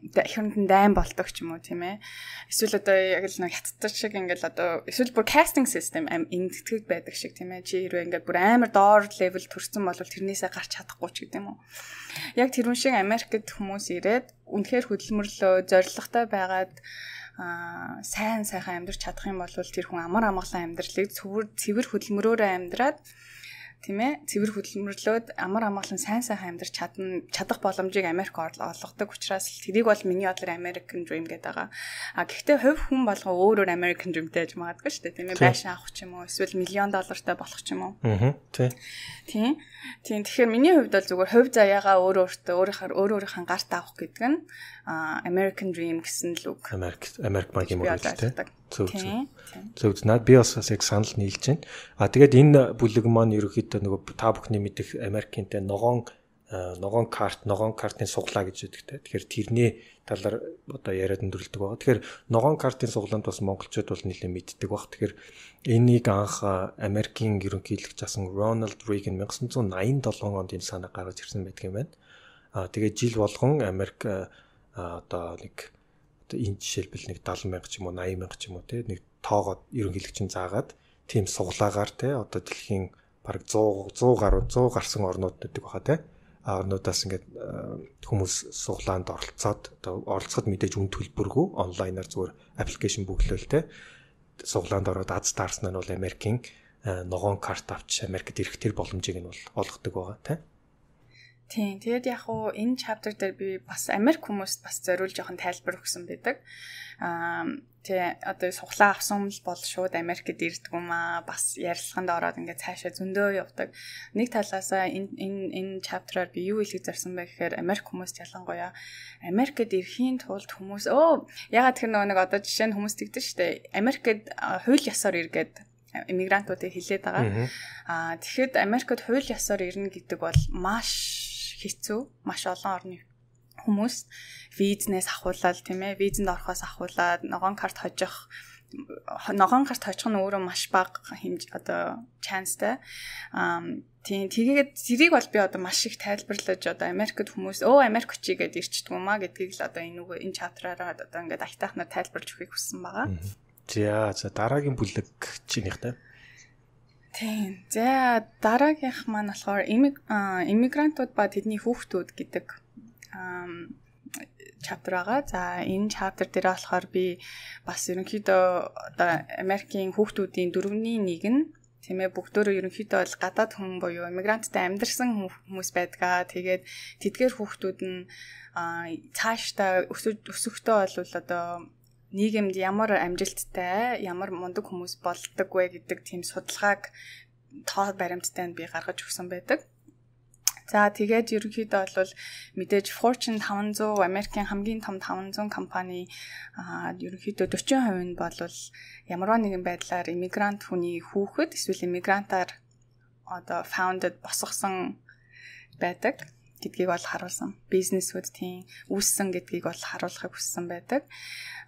их оронд дайм болдог ч юм уу тийм ээ. Эсвэл одоо яг л нэг хятад шиг ингээл одоо эсвэл бүр casting system ингэдэг байдаг шиг тийм ээ. Чи хэрвээ ингээд бүр амар доор level төрсэн бол тэрнээсээ гарч чадахгүй ч гэдэг юм уу. Яг тэрүүн шиг Америкт хүмүүс ирээд үнэхээр хөдөлмөрлөө зоригтой байгаад аа сайн сайхан амьдарч чадах юм бол тэр хүн амар амгалан амьдралыг цэвэр хөдөлмөрөөрөө амьдраад тийм ээ цэвэр хөдөлмөрлөөд амар амгалан сайн сайхан амьдарч чадна чадах боломжийг Америк олгодог учраас тэрийг бол миний бодлоор American Dream гэдэг байгаа. А гэхдээ хувь хүн болгоо өөрөөр American Dreamтэй гэж магадгүй шүү дээ тийм ээ байшин авах ч юм уу эсвэл миллион доллартай болох ч юм уу. Аа тий. Тийм. Тийм тэгэхээр миний хувьд бол зүгээр хувь заяагаа өөр өөртөө өөрийнхөө өөр өөрийнхөө гарт авах гэдэг нь American Dream гэсэн л үг. Америк Америк багийн мөрөөдөлтэй. Зөв зөв. Зөв наад би бас яг санал нийлж байна. А тэгээд энэ бүлэг маань ерөөхдөө нөгөө та бүхний мэдих Америкийнтэй ногоон ногоон карт, ногоон картын суглаа гэж яддаг те. Тэгэхээр тэрний талаар одоо яриад өндөрлөдөг байгаа. Тэгэхээр ногоон картын суглаанд бас монголчууд бол нэлээд мэддэг баг. Тэгэхээр энийг анх Америкийн ерөнхийлөгч асан Ronald Reagan nineteen eighty-seven онд энэ санаа гаргаж ирсэн байдаг юм байна. А тэгээд жил болгон Америк одоо нэг энэ жишээлбэл нэг seventy мянга ч юм уу eighty мянга ч юм уу те нэг тоогоод ерөнхийлөгчин заагаад тийм суглаагаар те одоо дэлхийн бараг one hundred гаруй one hundred гарсан орнууд гэдэг баха те орнуудаас ингээд хүмүүс суглаанд оролцоод одоо оролцоход мэдээж үн төлбөргүй онлайнаар зүгээр аппликейшн бүглөөл те суглаанд ороод аз таарсан нь бол Америкийн ногоон карт авч Америкт ирэх тэр боломжийг нь бол олгодог байгаа те. Тийм. Тэгээд яг уу энэ chapter дээр би бас Америк хүмүүст бас зориулж жоохон тайлбар өгсөн байдаг. Аа тэгээ одоо суглаа авсан юм бол шууд Америкт ирдэг юм аа. Бас ярилцлаганд ороод ингээд цаашаа зөндөө явдаг. Нэг талаасаа энэ энэ энэ chapter-аар би юу хэлэх зарсан бэ гэхээр Америк хүмүүст ялангуяа Америкт ирэхийн тулд хүмүүс өө ягаад тэр нэг одоо жишээ нь хүмүүс тэгдэж штэ. Америкт хууль ёсоор иргээд иммигрантуудыг хилээд байгаа. Аа тэгэхэд Америкт хууль ёсоор ирнэ гэдэг бол маш хэцүү, маш олон орны хүмүүс визнээс ахуулаад тийм ээ, визэнд орохоос ахуулаад ногоон карт хожих, ногоон карт хожих нь өөрөө маш бага хэмж одоо чанстай. Аа тийм тэгээд зэрийг бол би одоо маш их тайлбарлаж одоо Америкт хүмүүс өө Америк очие гэдээ ирчдэг юм а гэдгийг л одоо энэ үгүй энэ чаптраараа одоо ингээд айтаахнаар тайлбарлаж өгөхийг хүссэн байгаа. За за дараагийн бүлэг чинийхтэй. Тийм. За дараагийнх маань болохоор иммигрантууд ба тэдний хүүхдүүд гэдэг chapter байгаа. За энэ chapter дээр болохоор би бас ерөнхийдөө одоо Америкийн хүүхдүүдийн дөрөвний нэг нь тийм ээ бүгдөө ерөнхийдөө бол гадаад хүн буюу иммигранттай амьдарсан хүмүүс байдгаа. Тэгээд тэдгээр хүүхдүүд нь цаашдаа өсөхдөө бол одоо нийгэмд ямар амжилттай, ямар мундаг хүмүүс болдог вэ гэдэг тийм судалгааг тоо баримттай нь би гаргаж өгсөн байдаг. За тэгээд ерөнхийдөө бол мэдээж Fortune five hundred Америкийн хамгийн том five hundred компани ерөнхийдөө forty percent нь бол ямарваа нэгэн байдлаар иммигрант хүний хүүхэд эсвэл иммигрантаар одоо founded босгосон байдаг гэдгийг бол харуулсан. Бизнесүүд тийм үүссэн гэдгийг бол харуулахыг хүссэн байдаг.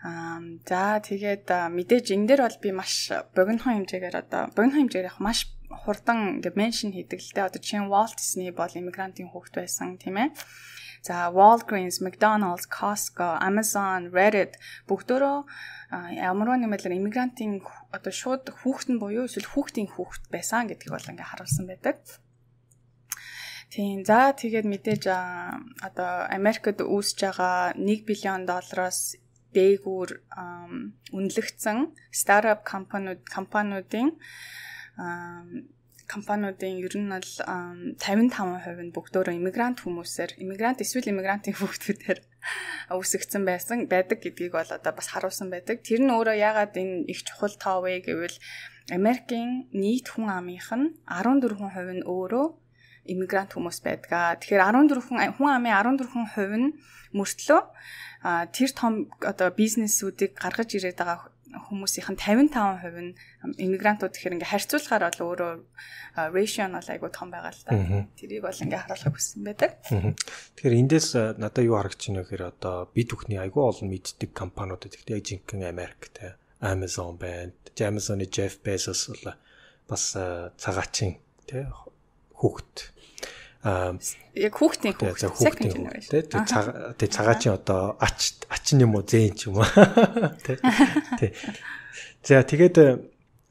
Аа за тэгээд мэдээж энэ дээр бол би маш богинохон хэмжээгээр одоо богинохон хэмжээгээр яг маш хурдан ингээд меншн хийдэг л дээ. Одоо чинь Walt Disney бол иммигрантын хүүхэд байсан тийм ээ. За Walgreens, McDonald's, Costco, Amazon, Reddit бүгдөө ямарваа нэг байдлаар иммигрантын одоо шууд хүүхэд нь буюу эсвэл хүүхдийн хүүхэд байсан гэдгийг бол ингээд харуулсан байдаг. Тийм. За тэгээд мэдээж одоо Америкт үүсэж байгаа one billion доллароос дээгүүр үнэлэгдсэн стартап компаниуд компаниудын компаниудын ер нь бол fifty-five percent нь бүгдөө иммигрант хүмүүсээр иммигрант эсвэл иммигрантын хүүхдүүдээр үүсгэгдсэн байсан байдаг гэдгийг бол одоо бас харуулсан байдаг. Тэр нь өөрөө яагаад энэ их чухал тоо вэ гэвэл Америкийн нийт хүн амынх нь fourteen percent нь өөрөө иммигрант хүмүүс байдаг. Тэгэхээр арван дөрвөн хүн амын арван дөрвөн хувь нь мөртлөө тэр том одоо бизнесүүдийг гаргаж ирээд байгаа хүмүүсийн тавин таван хувь нь иммигрантууд гэхээр ингээ харьцуулахаар бол өөрөө ratio нь бол айгүй том байгаа л та. Тэрийг бол ингээ харуулах хүссэн байдаг. Тэгэхээр эндээс надад юу харагдаж байна вэ гэхээр одоо бид бүхний айгүй олон мэддэг компаниудад ихтэй яг жинхэнэ Америктэй Amazon байна. Amazon-ы Jeff Bezos бол бас цагаачийн тий хүүхэд аа яг хүүхдийн хүүхэд тий тий цагаачийн одоо ач ачин юм уу зээн ч юм уу тий тий за тэгээд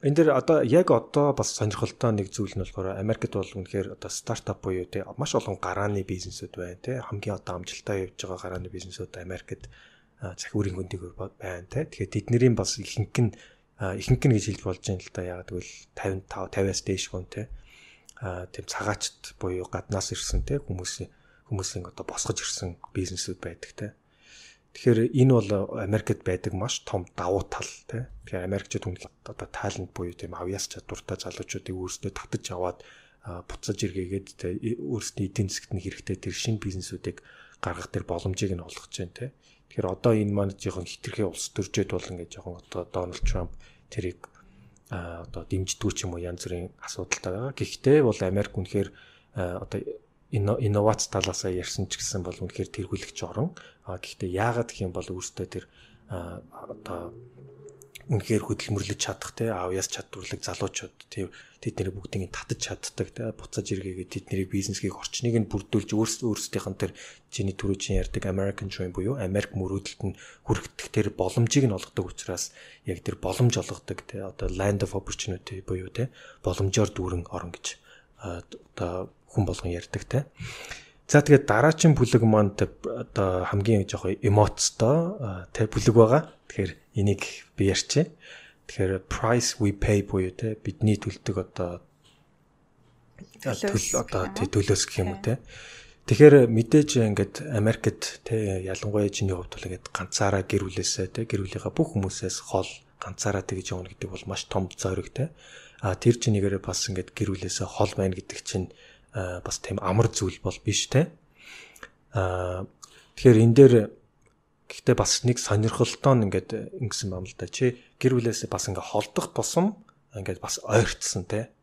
энэ дэр одоо яг одоо бас сонирхолтой нэг зүйл нь болохоор Америкт бол үнэхээр одоо стартап буюу тий маш олон гарааны бизнесүүд байна тий хамгийн одоо амжилттай явж байгаа гарааны бизнесүүд Америкт захиурийн хөндөгөр байна тий тэгэхээр тэднэрийн бас ихэнх нь ихэнх нь гэж хэлж болж байна л да яг тэгвэл тавин тав тавиас дээш хүн тий а тийм цагаачд буюу гаднаас ирсэн те хүмүүсийн хүмүүсийн одоо босгож ирсэн бизнесүүд байдаг те. Тэгэхээр энэ бол Америкт байдаг маш том давуу тал те. Тэгэхээр Америкчууд үнэхээр одоо талент буюу тийм авьяас чадвартай залуучуудыг өөрсдөө татаж аваад буцаж иргээгээд те өөрсдийн эдийн засгт нь хэрэгтэй тэр шинэ бизнесүүдийг гаргах тэр боломжийг нь олгож байна те. Тэгэхээр одоо энэ маань жоохон хитрхээ улс төржөөд бол ингээд жоохон одоо Дональд Трамп тэрийг а одоо дэмждэггүй ч юм уу янз бүрийн асуудалтай байгаа. Гэхдээ бол Америк үнэхээр одоо инновац талаас ярьсан ч гэсэн бол үнэхээр тэргүүлэгч орон. А гэхдээ яагаад гэх юм бол өөртөө тэр одоо үнэхээр хөдөлмөрлөж чадах те авьяас чадварлаг залуучууд тийм тэдний бүгдийг татаж чаддаг те буцаж иргээгээд тэдний бизнесийн орчныг нь бүрдүүлж өөрсдийнх нь тэр чиний түрүүчийн ярьдаг American Dream буюу Америк мөрөөдөлд нь хүрэх тэр боломжийг нь олгодог учраас яг тэр боломж олгодог те одоо land of opportunity буюу те боломжоор дүүрэн орон гэж одоо хүн болгон ярьдаг те. За тэгээд дараагийн бүлэг маань одоо хамгийн жоохон эмоцтой те бүлэг байгаа. Тэгэхээр энийг би ярьчих. Тэгэхээр price we pay буюу те бидний төлдөг одоо төл одоо төлөөс гэх юм уу те. Тэгэхээр мэдээж ингээд Америкт те ялангуяа чиний хувьд бол ингээд ганцаараа гэр бүлээсээ те гэр бүлийнхаа бүх хүмүүсээс хол ганцаараа тэгж явна гэдэг бол маш том зориг те. А тэр чинийгээрээ бас ингээд гэр бүлээсээ хол байна гэдэг чинь бас тийм амар зүйл бол биш те. А тэгэхээр энэ дээр гэхдээ бас нэг сонирхолтой нь ингээд ингэсэн юм л да. Чи гэр бүлээсээ бас ингээд холдох тусам ингээд бас ойртсон те.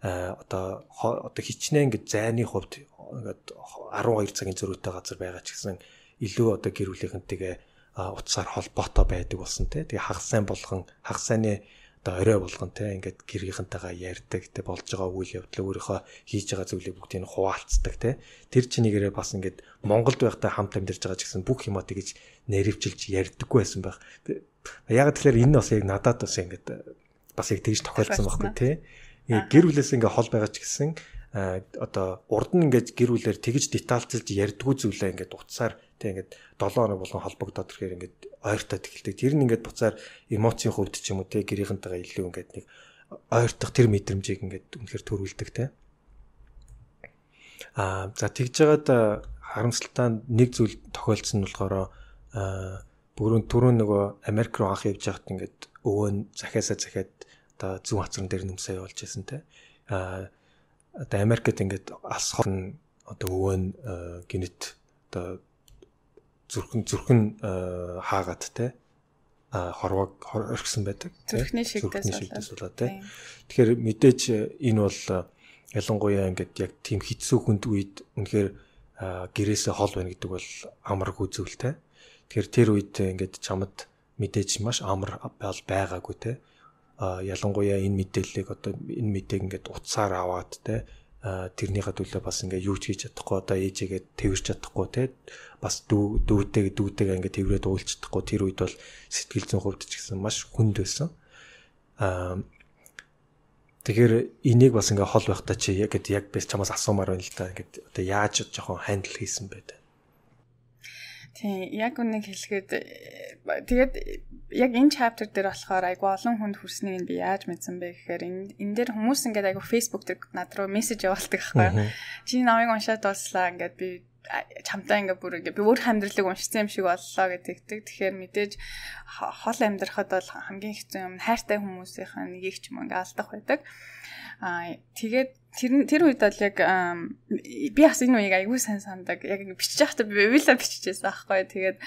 А одоо одоо хичнээн ингээд зайны хувьд ингээд арван хоёр цагийн зөрүүтэй газар байгаа ч гэсэн илүү одоо гэр бүлийнхэнтэйгээ утсаар холбоотой байдаг болсон те. Тэгээ хагас сайн болгон хагас сайны одоо орой болгон те ингээд гэргийнхэнтэйгээ ярьдаг те болж байгаа үйл явдлаа өөрийнхөө хийж байгаа зүйлийг бүгдийг нь хуваалцдаг те. Тэр чинийгээрээ бас ингээд Монголд байхдаа хамт амьдарч байгаа ч гэсэн бүх юмаа тэгэж нэрвчилж ярьдаггүй байсан байх. Яг тэгэхээр энэ бас яг надад бас ингээд бас яг тэгж тохиолдсон байхгүй те. Гэр бүлээс ингээ хол байгаа ч гэсэн одоо урд нь ингээд гэр бүлээр тэгж детальчилж ярьдгүү зүйлээ ингээд утсаар тэг ингээд долоон хоног болгон холбогдоод ирэхээр ингээд ойртоод эхэлдэг. Тэр нь ингээд буцаар эмоцийн хувьд ч юм уу те гэрийнхэнтэйгээ илүү ингээд нэг ойртох тэр мэдрэмжийг ингээд үнэхээр төрүүлдэг те. Аа за тэгж жагаад харамсалтай нэг зүйл тохиолдсон нь болохоор бүрэн түрүүн нөгөө Америк руу анх явж байхад ингээд өвөө нь захиасаа захиад одоо зүүн хацран дээр нүмсээ явуулж байсан те. Аа одоо Америкт ингээд алс хорн одоо өвөө нь гинэт одоо зүрхэн зүрхэн хаагаад те хорвог орхисон байдаг. Зүрхний шигдээс болоо те. Тэгэхээр мэдээж энэ бол ялангуяа ингээд яг тийм хэцүү хүнд үед үнэхээр гэрээсээ хол байна гэдэг бол амаргүй зүйл те. Тэгэхээр тэр үед ингээд чамд мэдээж маш амар бол байгаагүй те. А ялангуяа энэ мэдээллийг одоо энэ мэдээг ингээд утсаар аваад те тэрнийхээ төлөө бас ингээ юу ч хийж чадахгүй одоо ээжигээ тэрвэрч чадахгүй те бас дүү дүүтэйг дүүтэйгээ ингээ тэрврээд уулж чадахгүй тэр үед бол сэтгэл зүйн хувьд ч гэсэн маш хүнд байсан. Аа тэгэхээр энийг бас ингээ хол байхдаа чи яг яг би чамаас асуумаар байна л да ингээд одоо яаж жоохон хандл хийсэн бэ? Тийм яг үнэ хэлгээд тэгээд яг энэ chapter дээр болохоор айгу олон хүнд хүрснийг би яаж мэдсэн бэ гэхээр энэ энэ дээр хүмүүс ингээд айгу Facebook дээр над руу мессеж явуулдаг байхгүй. Чи намайг уншаад дууслаа ингээд би чамтай ингээ бүр ингээ би өөр амьдралыг уншсан юм шиг боллоо гэдэг. Тэгэхээр мэдээж хол амьдрахад бол хамгийн хэцүү юм хайртай хүмүүсийнх нь нэгийг ч юм ингээ алдах байдаг. Аа тэгээд тэр тэр үед бол яг би бас энэ үеийг аягүй сайн сандаг. Яг бичиж байхдаа би уйлаа биччихсэн аахгүй. Тэгээд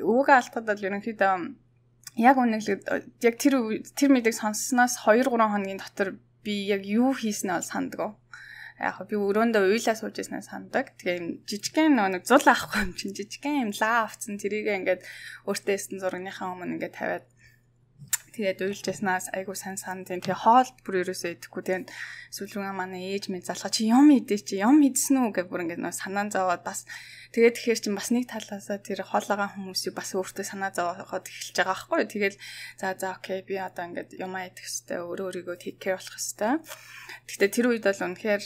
өвгөө алдахад бол ерөнхийдөө яг үнэглээд яг тэр тэр мэдээг сонссноос two three хоногийн дотор би яг юу хийснээ бол санддаг. Яг би өрөөндөө уйлаа сууж ирснээ сандаг. Тэгээ жижигхэн нэг зул авахгүй юм чинь жижигхэн юм лаа авцсан тэрийг ингээд өөртөө эссэн зургийнхаа өмнө ингээд тавиад тэгээд уйлж яснаас айгуу сайн санд юм. Тэгээ хоол бүр ерөөсөө идэхгүй. Тэгээд сүүлрүүгээ манай ээж минь залхаа чи юм идэ чи юм идсэн үү гэж бүр ингээд нөө санаа зовоод бас тэгээд тэгэхээр чинь бас нэг талаасаа тэр хоолойгоо хүмүүсийг бас өөртөө санаа зовоод эхэлж байгаа байхгүй. Тэгээд за за окей би одоо ингээд юмаа идэх хэвээр өөрөө өөрийгөө take care болох хэвээр. Гэхдээ тэр үед бол үнэхээр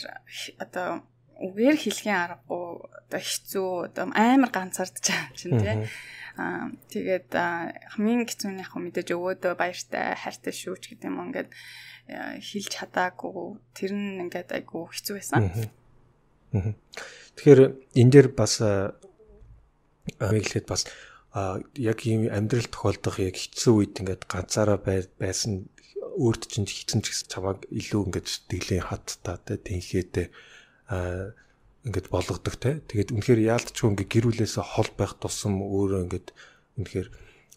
одоо үгээр хэлхийн аргагүй одоо хэцүү одоо амар ганцаардж байгаа юм чинь тий. Аа тэгээд хамгийн хэцүү нь яг мэдээж өвөөдөө баяртай хайртай шүүч гэдэг юм ингээд хэлж чадаагүй тэр нь ингээд айгу хэцүү байсан. Тэгэхээр энэ дээр бас мэглээд бас яг ийм амьдрал тохиолдох яг хэцүү үед ингээд ганцаараа байсан өөрт чинь хэцэн ч гэсэн чамайг илүү ингээд сэтгэлийн хаттай тэ тэнхээтэй ингээд болгодог те. Тэгээд үнэхээр яалтчгүй ингээд гэр бүлээсээ хол байх тусам өөрөө ингээд үнэхээр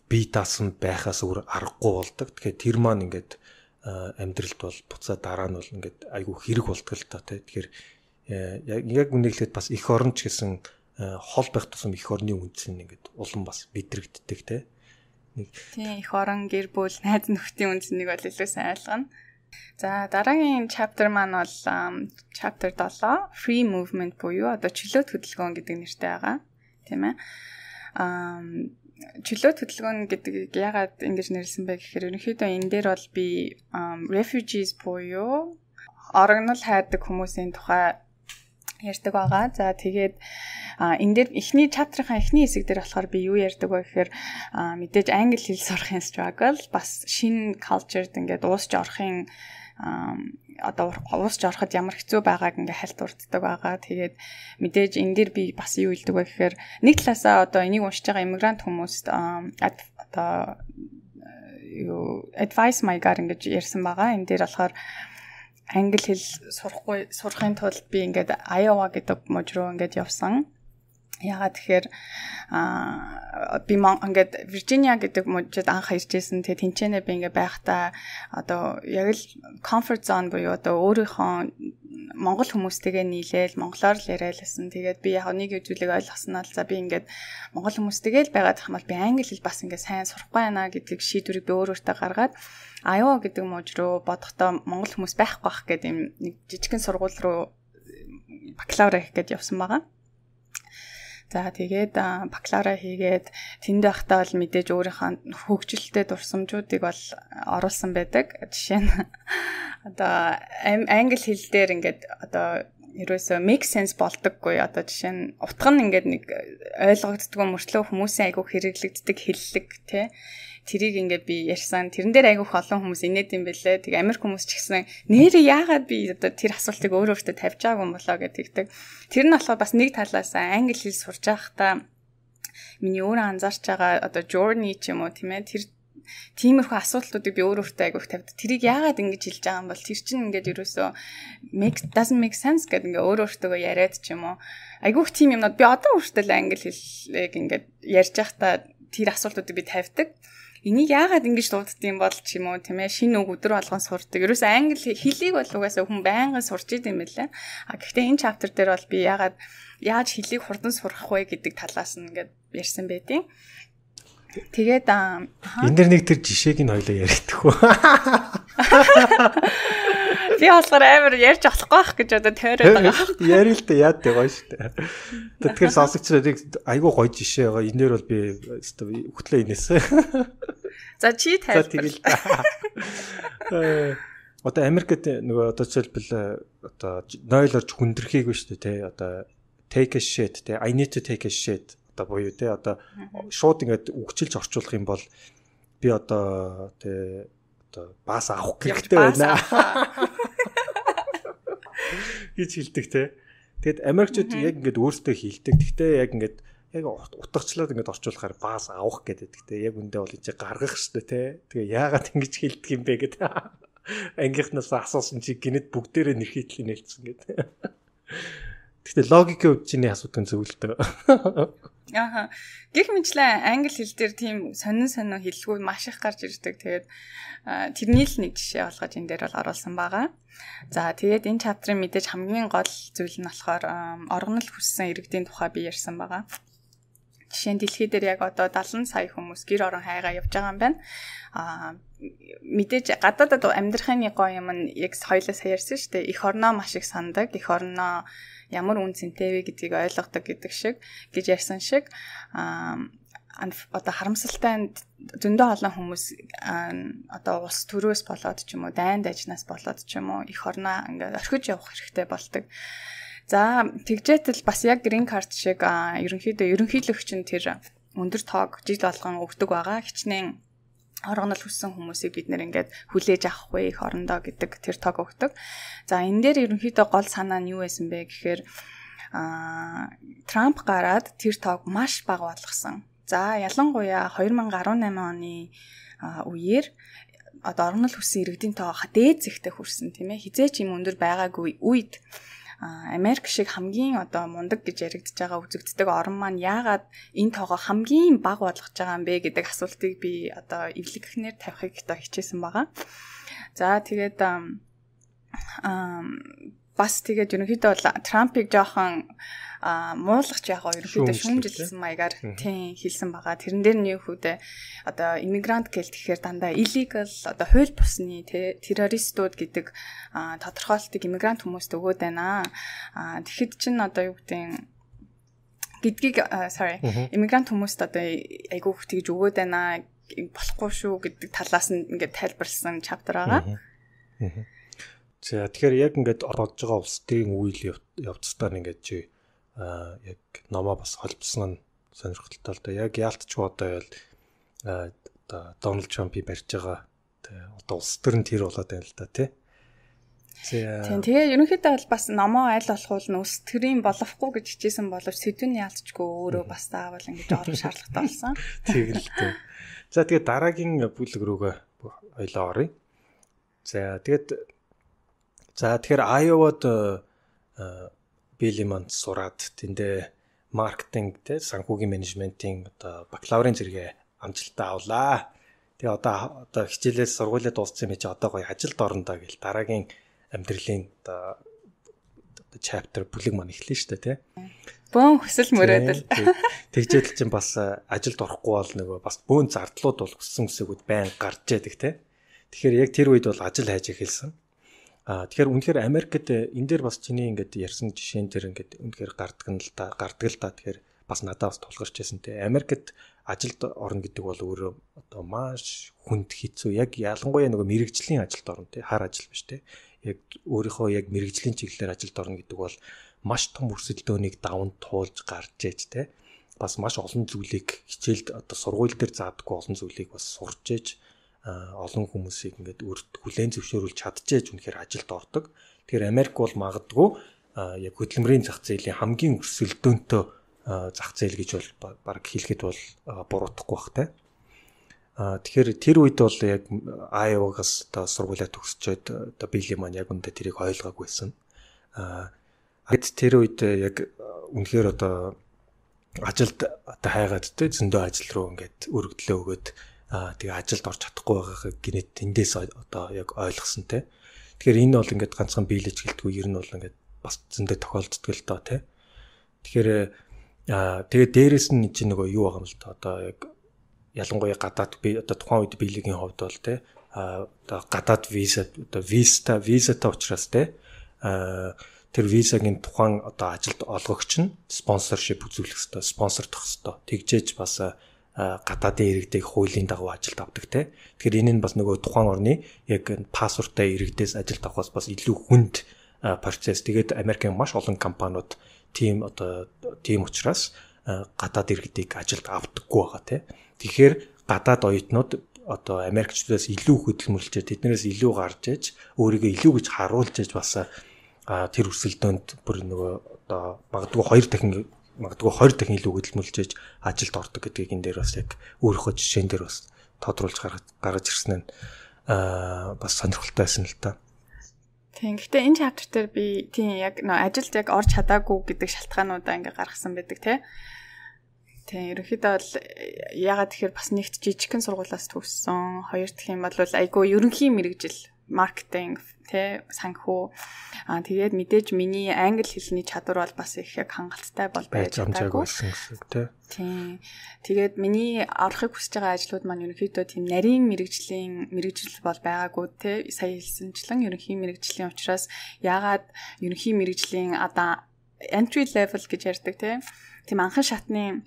бие даасан байхаас өөр аргагүй болдог. Тэгэхээр тэр маань ингээд амьдралд бол буцаа дараа нь бол ингээд айгүй хэрэг болдог л та те. Тэгэхээр яг үнэглээд бас эх орон ч гэсэн хол байх тусам эх орны үнц нь ингээд улам бас мэдрэгддэг те. Нэг тийм эх орон гэр бүл найз нөхдийн үнцнийг бол илүү сайн ойлгоно. За дараагийн chapter маань бол chapter seven free movement буюу одоо чөлөөт хөдөлгөөн гэдэг нэртэй байгаа тийм ээ. Аа чөлөөт хөдөлгөөн гэдэг ягаад ингэж нэрлсэн бэ гэхээр ерөнхийдөө энэ дээр бол би refugees буюу орогнол хайрдаг хүмүүсийн тухай ярьдаг байгаа. За тэгээд энэ дээр эхний chapter-ын эхний хэсэг дээр болохоор би юу ярьдаг вэ гэхээр мэдээж англи хэл сурахын struggle бас шинэ culture-д ингээд уусч орохын одоо уусч ороход ямар хэцүү байгааг ингээд хальтурддаг байгаа. Тэгээд мэдээж энэ дээр би бас юу хэлдэг вэ гэхээр нэг талаасаа одоо энийг уншиж байгаа иммигрант хүмүүст одоо юу advice my-гаар ингэж ярьсан байгаа. Энэ дээр болохоор англи хэл сурахгүй сурахын тулд би ингээд Iowa гэдэг мужид руу ингээд явсан. Ягаад тэгэхээр аа би ингээд Virginia гэдэг мужид анх иржсэн. Тэгээ тэнцэнэ би ингээд байхдаа одоо яг л comfort zone буюу одоо өөрийнхөө монгол хүмүүстэйгээ нийлээл монголоор л яриалсан. Тэгээд би яг нэг зүйлийг ойлгосноо л за би ингээд монгол хүмүүстэйгээ л байгаад хамаал би англи хэл бас ингээд сайн сурахгүй байна гэдэг шийдвэрийг би өөр өөртөө гаргаад Iowa гэдэг мужид руу бодохдоо монгол хүмүүс байхгүй бах гэдэг юм нэг жижигхэн сургууль руу бакалавра хийх гэж явсан байгаа. За тэгээд бакалавра хийгээд тэнд байхдаа бол мэдээж өөрийнхөө хөгжилтэй дурсамжуудыг бол оруулсан байдаг. Жишээ нь одоо англи хэл дээр ингээд одоо ерөөсөө make sense болдоггүй. Одоо жишээ нь утга нь ингээд нэг ойлгогддгүй мөртлөө хүмүүсийн айгуу хэрэглэгддэг хэллэг тий. Тэрийг ингээд би ярьсан. Тэрэн дээр айгуух олон хүмүүс инээд юм бэлээ. Тэг Америк хүмүүс ч гэсэн нэрээ яагаад би одоо тэр асуултыг өөр өөртөө тавьж байгаагүй юм болоо гэдэг. Тэр нь болохоор бас нэг талаасаа англи хэл сурж байхдаа миний өөрөө анзаарч байгаа одоо journey ч юм уу тийм ээ тэр тиймэрхүү асуудлуудыг би өөр өөртөө айгуух тавьд. Тэрийг яагаад ингэж хэлж байгаа юм бол тэр чинь ингээд ерөөсөө make doesn't make sense гэдэг ингээд өөр өөртөө яриад ч юм уу. Айгуух тийм юмнууд би одоо өөртөө л англи хэлийг ингээд ярьж байхдаа тэр асуултуудыг би тавьдаг. Энийг яагаад ингэж дууддсан бол ч юм уу тийм ээ шинэ үг өдөр болгон сурдаг. Ерөөсөө англи хэлийг бол угаасаа хүн байнгын сурч идэм байлаа. А гэхдээ энэ chapter дээр бол би яагаад яаж хэлийг хурдан сурах вэ гэдэг талаас нь ингээд ярьсан байдیں۔ Тэгээд энэ дэр нэг тэр жишээг нь хоёлаа ярьдаг уу? Би болохоор амар ярьж болохгүй байх гэж одоо тойроод байгаа. Яри л да яад дээ гоё шүү дээ. Тэгэхээр сонсогчдыг айгүй гоё жишээ байгаа. Энэ дээр бол би хөтлөө инээсэн. За чи тайлбар. Одоо Америкт нөгөө одоо жишээлбэл одоо нойлорж хүндэрхийгүй шүү дээ тий. Одоо take a shit тий. I need to take a shit. Одоо буюу тий одоо шууд ингээд үгчилж орчуулах юм бол би одоо тий одоо баас авах хэрэгтэй байна гэж хэлдэг те. Тэгэд Америкчууд яг ингээд өөрсдөө хийлдэг. Гэхдээ яг ингээд яг утгачлаад ингээд орчуулахаар баас авах гэдэг. Гэхдээ яг үндэ бол энэ гаргах шүү дээ те. Тэгээ яагаад ингэж хийлдэг юм бэ гэдэг. Ангийнхнаас асуусан чи гинэд бүгдээрээ нэр хийтлийг нээлтсэн гэдэг. Гэхдээ логикийн хувьд чиний асуудаг зөвлөлтөө. Ааха. Гэх мэтлээ англи хэл дээр тийм сонин сонин хэллгүй маш их гарч ирдэг. Тэгээд тэрний л нэг жишээ болгож энэ дээр бол оруулсан байгаа. За тэгээд энэ чаптрын мэдээж хамгийн гол зүйл нь болохоор оргонол хүссэн иргэдийн тухай би ярьсан байгаа. Жишээ нь дэлхий дээр яг одоо дагалан сая хүмүүс гэр орон хайгаа явж байгаа юм байна. Аа мэдээж гадаадад амьдрахын гоё юм нь яг хоёлаа саярсан шүү дээ. Эх орноо маш их сандаг. Эх орноо ямар үн цэнтэй вэ гэдгийг ойлгодог гэдэг шиг гэж ярьсан шиг аа одоо харамсалтай зөндөө олон хүмүүс одоо улс төрөөс болоод ч юм уу дайнд ажнаас болоод ч юм уу эх орноо ингээд орхиж явах хэрэгтэй болдог. За тэгжээтэл бас яг green card шиг ерөнхийдөө ерөнхийлөгч нь тэр өндөр тоог жил болгон өгдөг байгаа. Хичнээн оргонол хүссэн хүмүүсийг бид нэр ингээд хүлээж авахгүй их орондоо гэдэг тэр тоог өгдөг. За энэ дээр ерөнхийдөө гол санаа нь юу байсан бэ гэхээр аа Трамп гараад тэр тоог маш бага болгосон. За ялангуяа две thousand eighteen оны үеэр одоо оргонол хүссэн иргэдийн тоо дээд зэгтээ хүрсэн тийм ээ. Хизээч юм өндөр байгаагүй үед Америк шиг хамгийн одоо мундаг гэж яригдж байгаа үзэгддэг орн маань яагаад энэ тоогоо хамгийн бага болгож байгаа юм бэ гэдэг асуултыг би одоо эвлэгхнэр тавихыг одоо хичээсэн байгаа. За тэгээд бас тэгээд ерөнхийдөө бол Трампыг жоохон муулгач яг ерөнхийдөө шүүмжилсэн маягаар тийм хэлсэн байгаа. Тэрэн дээр нь юу хүүдээ одоо иммигрант гээл тэгэхээр дандаа illegal одоо хууль бусны террористууд гэдэг тодорхойлтыг иммигрант хүмүүст өгөөд байна. Тэгэхэд чинь одоо юу гэдэг гэдгийг sorry иммигрант хүмүүст одоо айгүй их тэгж өгөөд байна болохгүй шүү гэдэг талаас нь ингээд тайлбарлсан чаптер байгаа. За тэгэхээр яг ингээд орж байгаа улсдын үйл явцдаар ингээд чи а яг номоо бас холбосон нь сонирхолтой л да. Яг яалтчгүй одоо ял одоо Дональд Трампыг барьж байгаа. Тэгээ одоо улс төр нь тэр болоод байна л да тий. Тийм тэгээ ерөнхийдөө бол бас номоо аль болох нь улс төрийн болохгүй гэж хичээсэн боловч сэдвүүний яалтчгүй өөрөө бас заавал ингэж орох шаардлагатай болсон. Тийм л дээ. За тэгээ дараагийн бүлэг рүүгээ хоёлоо оръё. За тэгээд за тэгэхээр Айовад Билиманд сураад тэндээ маркетинг те санхүүгийн менежментийн одоо бакалаврын зэрэгээ амжилттай авлаа. Тэгээ одоо одоо хичээлээс сургуулиа дууссан юм чи одоо гоё ажилд орондоо гэл дараагийн амьдралын одоо chapter бүлэг маань эхлэн штэ те. Бөөн хүсэл мөрөөдөл. Тэгжээл чинь бас ажилд орохгүй бол нөгөө бас бөөн зардлууд бол хүссэн хүсэгүүд байн гарч яадаг те. Тэгэхээр яг тэр үед бол ажил хайж эхэлсэн. А тэгэхээр үнэхээр Америкт энэ дээр бас чиний ингээд ярьсан жишээн дээр ингээд үнэхээр гардаг нь л та гардаг л та тэгэхээр бас надад бас тулгарч байсан те. Америкт ажилд орно гэдэг бол өөрөө одоо маш хүнд хэцүү яг ялангуяа нөгөө мэрэгжлийн ажилд орно те хар ажил биш те. Яг өөрийнхөө яг мэрэгжлийн чиглэлээр ажилд орно гэдэг бол маш том өрсөлдөөнийг даван туулж гарч ээж те. Бас маш олон зүйлийг хичээлд одоо сургууль дээр заадаггүй олон зүйлийг бас сурч ээж олон хүмүүсийг ингээд өөрт хүлээн зөвшөөрүүлж чадчихэж үнэхээр ажилд ордог. Тэгэхээр Америк бол магадгүй яг хөдөлмөрийн зах зээлийн хамгийн өрсөлдөөнтэй зах зээл гэж бол баг хэлэхэд бол буруудахгүй бах те. Тэгэхээр тэр үед бол яг Айовагаас одоо сургуулиа төгсчөөд одоо Билли маань яг үндэ тэрийг ойлгоогүйсэн. Гэт тэр үед яг үнэхээр одоо ажилд одоо хайгаад те зөндөө ажил руу ингээд өргөдлөө өгөөд тэгээ ажилд орж чадахгүй байгааг гинэт эндээс одоо яг ойлгосон те. Тэгэхээр энэ бол ингээд ганцхан биелэж гэлтгүй ер нь бол ингээд бас зөндөө тохиолддог л доо те. Тэгэхээр тэгээ дээрэс нь чинь нөгөө юу байгаа юм л та одоо яг ялангуяа гадаад би одоо тухайн үед биелэгийн хувьд бол те одоо гадаад виза одоо виза визатай учраас те тэр визагийн тухайн одоо ажилд олгогч нь спонсоршип үзүүлэх ёстой, спонсордох ёстой. Тэгжээж бас гадаадын иргэдэг хуулийн дагуу ажилд авдаг те. Тэгэхээр энэ нь бас нөгөө тухайн орны яг пассворттай иргэдээс ажилд авахаас бас илүү хүнд процесс. Тэгээд Америкийн маш олон компаниуд тийм одоо тийм учраас гадаад иргэдийг ажилд авдаггүй байгаа те. Тэгэхээр гадаад оюутнууд одоо Америкчдаас илүү хөдөлмөрлөж тэднээс илүү гарч иж өөрийгөө илүү гэж харуулж иж бас а тэр өрсөлдөөнд бүр нөгөө одоо магадгүй хоёр дахин магадгүй хоёр дахин илүү хөдөлмөрлж ажилд ордог гэдгийг энэ дээр бас яг өөрийнхөө жишээн дээр бас тодруулж гаргаж ирсэн нь аа бас сонирхолтой байсан л та. Тийм. Гэхдээ энэ chapter дээр би тийм яг нөө ажилд яг орж чадаагүй гэдэг шалтгаануудаа ингээ гаргасан байдаг тий. Тийм. Ерөнхийдөө бол ягаад тэгэхээр бас нэгт жижигхэн сургуулиас төгссөн. Хоёр дахь юм бол айгүй ерөнхий мэрэгжил, маркетинг тий санхүү. Аа тэгээд мэдээж миний англи хэлний чадвар бол бас их яг хангалттай бол байж чадаагүй байсан гэсэн тий. Тийм. Тэгээд миний орохыг хүсэж байгаа ажлууд маань ерөнхийдөө тийм нарийн мэрэгжлийн мэрэгжил бол байгаагүй тий. Сая хэлсэнчлэн ерөнхий мэрэгжлийн учраас ягаад ерөнхий мэрэгжлийн одоо entry level гэж ярьдаг тий. Тийм анхан шатны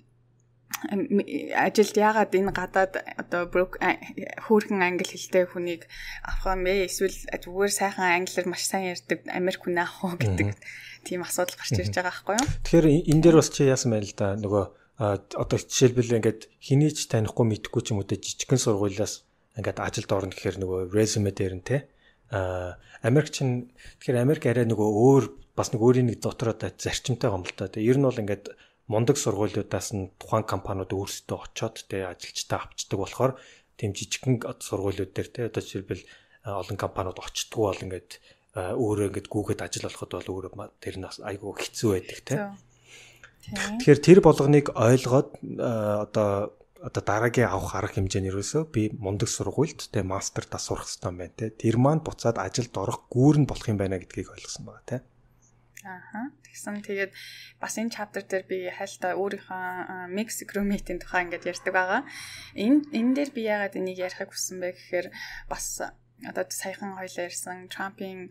ажилд яагаад энэ гадаад одоо хөөрхөн англи хэлтэй хүнийг авах юм бэ? Эсвэл зүгээр сайхан англиар маш сайн ярьдаг Америк хүн авах уу гэдэг тийм асуудал гарч ирж байгаа байхгүй юу? Тэгэхээр энэ дээр бас чи яасан байл да нөгөө одоо жишээлбэл ингээд хэний ч танихгүй мэдхгүй ч юм уу тэ жижигхэн сургуулиас ингээд ажилд орно гэхээр нөгөө резюме дээр нь те а Америк чин тэгэхээр Америк арай нөгөө өөр бас нэг өөрийн нэг дотроо зарчимтай юм л та. Ер нь бол ингээд мундаг сургуулиудаас нь тухайн компаниуд өөрсдөө очоод тэ ажилчтай авчдаг болохоор тийм жижигхэн сургуулиуд дээр тэ одоо жишээлбэл олон компаниуд очтгүй бол ингээд өөрөө ингээд гүгээд ажил олоход бол өөрөө тэр нь айгүй хэцүү байдаг тэ. Тэгэхээр тэр болгоныг ойлгоод одоо одоо дараагийн авах арга хэмжээ нь ерөөсөө би мундаг сургуульд тэ мастер тас сурах хэрэгтэй юм байна тэ. Тэр маань буцаад ажилд орох гүүр нь болох юм байна гэдгийг ойлгосон байгаа тэ. Ааха. Тэгсэн тэгээд бас энэ chapter дээр би хайлтаа өөрийнхөө mix roommate-ийн тухай ингээд ярьдаг байгаа. Энэ энэ дээр би яагаад энийг ярихыг хүссэн бэ гэхээр бас одоо саяхан хоёлаа ярьсан Trump-ийн